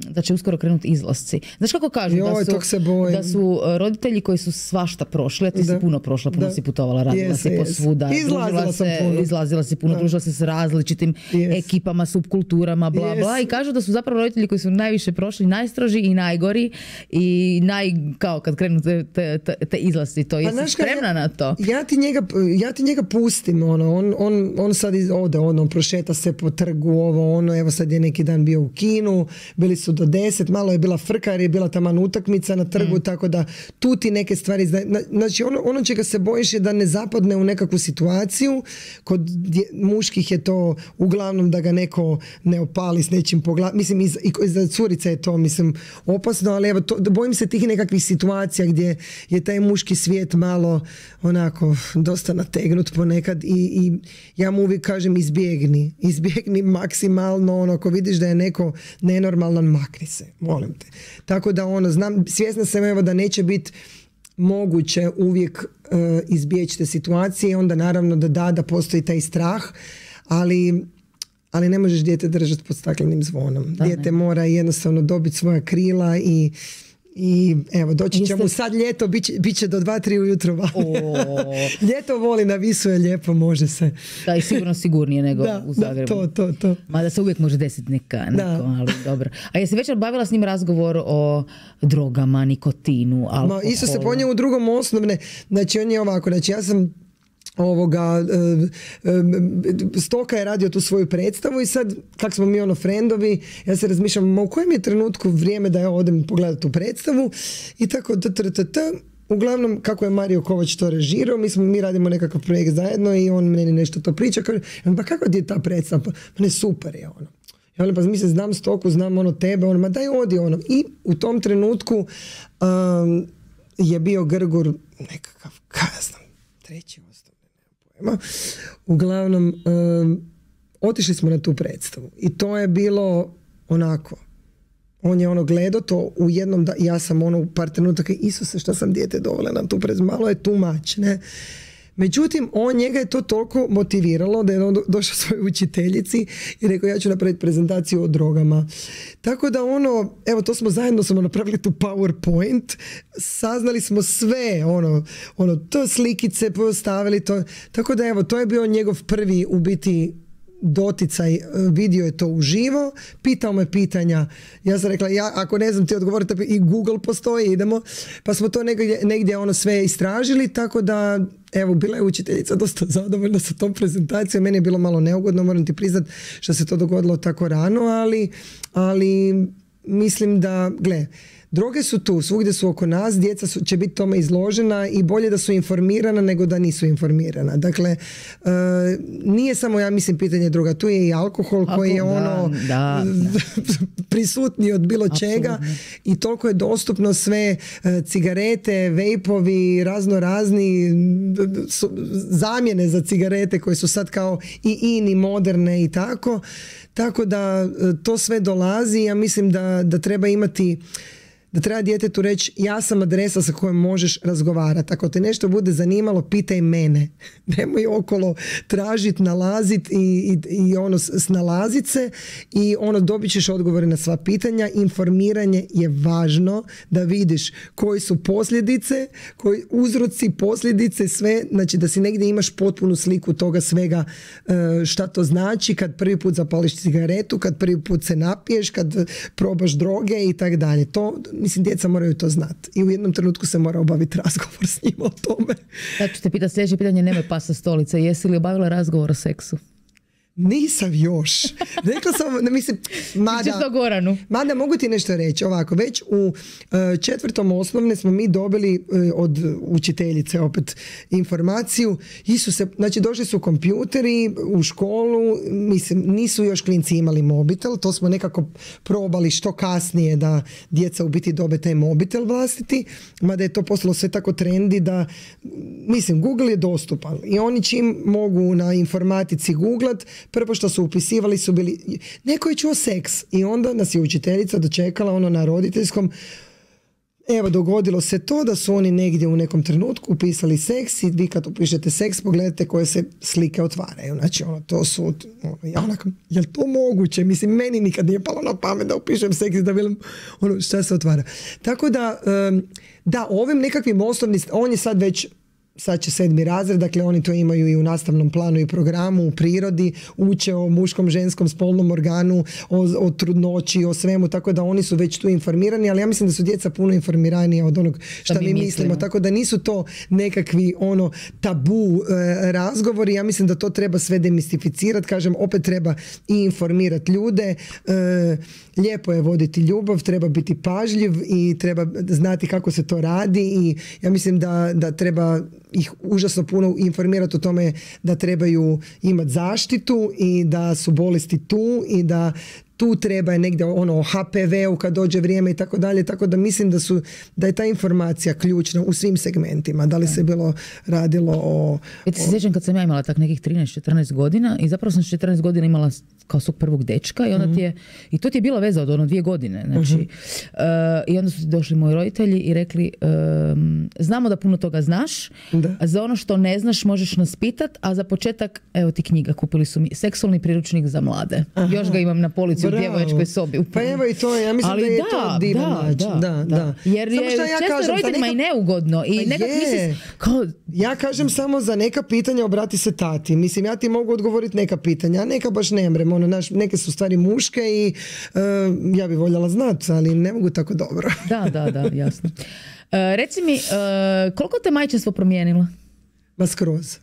da će uskoro krenuti izlasci? Znaš kako kažu? Joj, da, su, da su roditelji koji su svašta prošli, a ti da. si puno prošla, puno da. si putovala, radila yes, si yes. posvuda, izlazila, se, puno. izlazila si puno, da. družila se s različitim yes. ekipama, subkulturama, bla yes. bla, i kažu da su zapravo roditelji koji su najviše prošli, najstroži i najgori i naj, kao kad krenu te, te, te, te izlasci, to jesi znaš, spremna ja, na to? Ja ti njega, ja ti njega pustim, ono, on, on, on sad ode, ono, prošeta se po trgu, ovo, ono, evo sad je neki dan bio u kinu, bili su do deset, malo je bila frka jer je bila taman utakmica na trgu, mm. tako da tu ti neke stvari, znači ono, ono čega se bojiš je da ne zapadne u nekakvu situaciju, kod dje, muških je to uglavnom da ga neko ne opali s nečim po glavi, mislim i za, i za curica je to, mislim, opasno, ali evo, to, bojim se tih nekakvih situacija gdje je taj muški svijet malo onako dosta nategnut ponekad i, i ja mu uvijek kažem izbjegni, izbjegni maksimalno, ono, ako vidiš da je neko nenormalan, makni se, molim te. Tako da ono, znam, svjesna sam evo da neće biti moguće uvijek uh, izbjeći te situacije, onda naravno da da, da postoji taj strah, ali, ali ne možeš dijete držati pod staklenim zvonom. Da, dijete ne. mora jednostavno dobiti svoja krila i I evo, doći ćemo Jeste... sad ljeto, bit će, bit će do dva tri ujutro vani. Ljeto voli na Visu je lijepo, može se. Da, i sigurno sigurnije nego da, u Zagrebu. Da, to, to, to. Mada se uvijek može desiti neka, neko, ali dobro. A jesi već bavila s njim razgovor o drogama, nikotinu, alkoholu? Ma, isto se ponio u drugom osnovne, znači on je ovako, znači ja sam ovoga, Stoka je radio tu svoju predstavu i sad, kak smo mi ono frendovi, ja se razmišljam, u kojem je trenutku vrijeme da ja odem pogledati tu predstavu i tako t, t, t, t. Uglavnom, kako je Mario Kovač to režirao, mi, smo, mi radimo nekakav projekt zajedno i on meni nešto to priča, kaže, pa kako ti je ta predstava? Pa ne, super je ono. Ja ono, pa mi se znam Stoku, znam ono tebe, ono, ma daj odi ono. I u tom trenutku um, je bio Grgur nekakav, kaj ja znam, treći uglavnom um, otišli smo na tu predstavu i to je bilo onako, on je ono gledao to u jednom, da, ja sam ono u par trenutaka, Isuse što sam dijete dovela na tu predstavu, malo je too much, ne. Međutim, on, njega je to toliko motiviralo da je on došao svojoj učiteljici i rekao ja ću napraviti prezentaciju o drogama. Tako da ono, evo to smo zajedno smo napravili tu PowerPoint, saznali smo sve, ono, ono to slikice postavili to. Tako da evo, to je bio njegov prvi u biti doticaj, vidio je to uživo, pitao me pitanja, ja sam rekla, ja ako ne znam ti odgovoriti, i Google postoji, idemo, pa smo to negdje, negdje ono sve istražili, tako da evo, bila je učiteljica dosta zadovoljna sa tom prezentacijom, meni je bilo malo neugodno, moram ti priznat što se to dogodilo tako rano, ali, ali mislim da, gle, droge su tu, svugdje su oko nas, djeca su, će biti tome izložena i bolje da su informirana nego da nisu informirana. Dakle, e, nije samo, ja mislim, pitanje droga, tu je i alkohol Alko, koji je ono da, da. prisutniji od bilo Absolutno. Čega i toliko je dostupno sve, e, cigarete, vejpovi, razno razni su, zamjene za cigarete koje su sad kao i in i moderne i tako. Tako da to sve dolazi, ja mislim da, da treba imati da treba djetetu reći ja sam adresa sa kojom možeš razgovarati. Ako te nešto bude zanimalo, pitaj mene. Nemoj okolo tražiti, nalaziti i, i, i ono snalazit se i ono dobit ćeš odgovore na sva pitanja. Informiranje je važno da vidiš koji su posljedice, koji uzroci, posljedice, sve, znači da si negdje imaš potpunu sliku toga svega šta to znači kad prvi put zapališ cigaretu, kad prvi put se napiješ, kad probaš droge i tak dalje. To mislim, djeca moraju to znati. I u jednom trenutku se mora obaviti razgovor s njima o tome. Ja ću te pitati sljedeće pitanje, nemoj pas sa stolice. Jesi li obavila razgovor o seksu? Nisam još. Rekla sam, ne mislim, mada, mada mogu ti nešto reći. Ovako, već u e, četvrtom osnovne smo mi dobili e, od učiteljice opet informaciju. Isuse, znači došli su kompjuteri u školu, mislim, nisu još klinci imali mobitel, to smo nekako probali što kasnije da djeca u biti dobe taj mobitel vlastiti, mada je to postalo sve tako trendi da, mislim, Google je dostupan i oni čim mogu na informatici googlat, prvo što su upisivali su bili, neko je čuo seks i onda nas je učiteljica dočekala ono na roditeljskom, evo dogodilo se to da su oni negdje u nekom trenutku upisali seks i vi kad upišete seks pogledajte koje se slike otvaraju, znači ono to su ono, ja onako, je li to moguće, mislim meni nikad nije palo na pamet da upišem seks i da vidim ono šta se otvara, tako da um, da ovim nekakvim osnovnim, on je sad već sad će sedmi razred, dakle oni to imaju i u nastavnom planu i programu, u prirodi, uče o muškom, ženskom, spolnom organu, o, o trudnoći, o svemu, tako da oni su već tu informirani, ali ja mislim da su djeca puno informiranije od onog što mi mislimo. mislimo, tako da nisu to nekakvi ono tabu e, razgovori, ja mislim da to treba sve demistificirati, kažem, opet treba i informirati ljude, e, lijepo je voditi ljubav, treba biti pažljiv i treba znati kako se to radi i ja mislim da, da treba ih užasno puno informirati o tome da trebaju imati zaštitu i da su bolesti tu i da tu treba je negdje ono o ha pe ve u kad dođe vrijeme i tako dalje, tako da mislim da su da je ta informacija ključna u svim segmentima, da li se bilo radilo o... Ja ti se sjećam kad sam ja imala tak nekih trinaest četrnaest godina i zapravo sam četrnaest godina imala kao svog prvog dečka i onda ti je, i to ti je bila veza od ono dvije godine, znači, uh, i onda su ti došli moji roditelji i rekli, um, znamo da puno toga znaš, da. A za ono što ne znaš možeš nas pitat, a za početak, evo ti knjiga, kupili su mi seksualni priručnik za mlade. Aha. Još ga imam na polici u djevojačkoj sobi. Pa evo i to, ja mislim ali da je da, to divan da, način. Da, da, da. da. Jer je ja često roditeljima nekak... i neugodno i pa nekak misliš kao... Ja kažem samo za neka pitanja obrati se tati. Mislim, ja ti mogu odgovoriti neka pitanja, a neka baš ne mrem. Ono, naš, neke su stvari muške i uh, ja bi voljela znati, ali ne mogu tako dobro. Da, da, da, jasno. Uh, reci mi, uh, koliko te majčinstvo promijenilo? Ma skroz.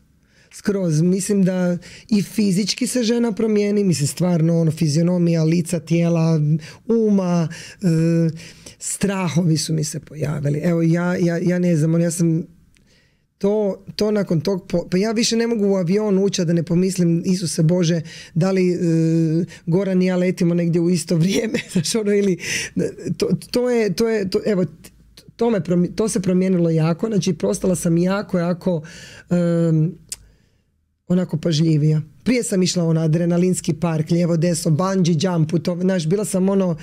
Skroz. Mislim da i fizički se žena promijeni, mislim stvarno ono, fizionomija, lica, tijela, uma, uh, strahovi su mi se pojavili. Evo, ja, ja, ja ne znam, ja sam To, to nakon tog, pa ja više ne mogu u avion ući da ne pomislim, Isuse Bože, da li e, Goran i ja letimo negdje u isto vrijeme, znaš ono, ili to, to je, to je, to, evo, to, me, to se promijenilo jako, znači postala sam jako, jako um, onako pažljivija. Prije sam išla na adrenalinski park, lijevo, desno, bungee jump, to, znaš, bila sam ono,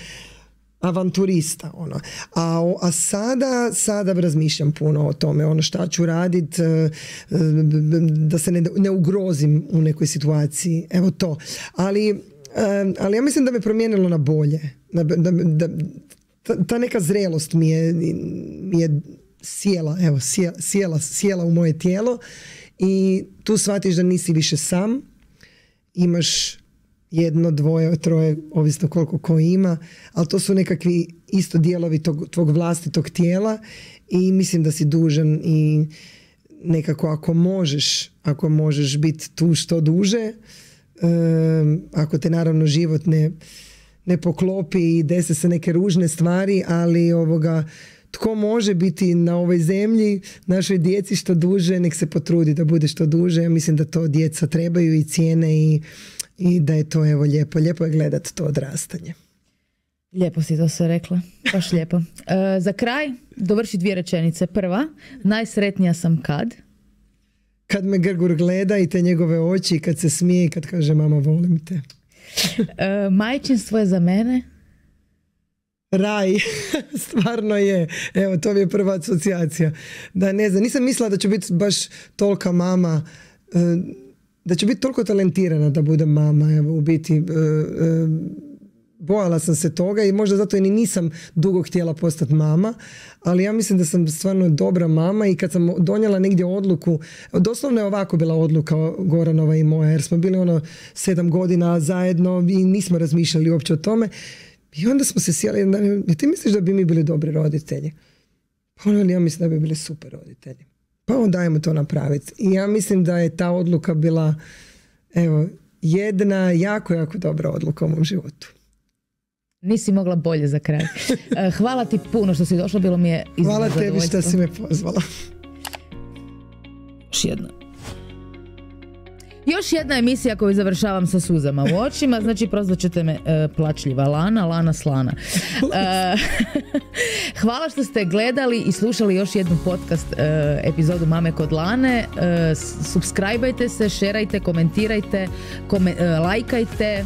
avanturista, ono. A, a sada, sada razmišljam puno o tome, ono šta ću radit, da se ne, ne ugrozim u nekoj situaciji, evo to. Ali, ali ja mislim da me promijenilo na bolje. Da, da, da, ta, ta neka zrelost mi je, mi je sjela, evo, sjela, sjela, sjela u moje tijelo i tu shvatiš da nisi više sam, imaš jedno, dvoje, troje, ovisno koliko ko ima, ali to su nekakvi isto dijelovi tog, tvog vlastitog tijela i mislim da si dužan i nekako ako možeš, ako možeš biti tu što duže, um, ako te naravno život ne, ne poklopi i dese se neke ružne stvari, ali ovoga, tko može biti na ovoj zemlji, našoj djeci što duže, nek se potrudi da bude što duže. Ja mislim da to djeca trebaju i cijene i I da je to evo lijepo. Lijepo je gledati to odrastanje. Lijepo si to sve rekla. Baš lijepo. E, za kraj dovrši dvije rečenice. Prva, najsretnija sam kad? Kad me Grgur gleda i te njegove oči, kad se smije i kad kaže mama volim te. E, majčinstvo je za mene? Raj. Stvarno je. Evo, to mi je prva asocijacija. Da, ne znam, nisam mislila da ću biti baš tolika mama, da ću biti toliko talentirana da budem mama. Evo, u biti bojala sam se toga i možda zato i nisam dugo htjela postati mama, ali ja mislim da sam stvarno dobra mama i kad sam donijela negdje odluku, doslovno je ovako bila odluka Goranova i moja, jer smo bili ono sedam godina zajedno i nismo razmišljali uopće o tome. I onda smo se sjeli, ja ti misliš da bi mi bili dobri roditelji? Pa ono, ja mislim da bi bili super roditelji. Pa onda dajemo to napraviti. I ja mislim da je ta odluka bila, evo, jedna jako, jako dobra odluka u mom životu. Nisi mogla bolje za kraj. Hvala ti puno što si došla, bilo mi je iznimno Hvala tebi što si me pozvala. Još jedna. Još jedna emisija koju završavam sa suzama u očima, znači prozvat ćete me e, plačljiva Lana, Lana Slana. E, hvala što ste gledali i slušali još jednu podcast e, epizodu Mame kod Lane. E, subscribeajte se, šerajte, komentirajte, kome, e, lajkajte. E,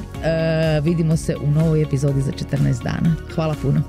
vidimo se u novoj epizodi za četrnaest dana. Hvala puno.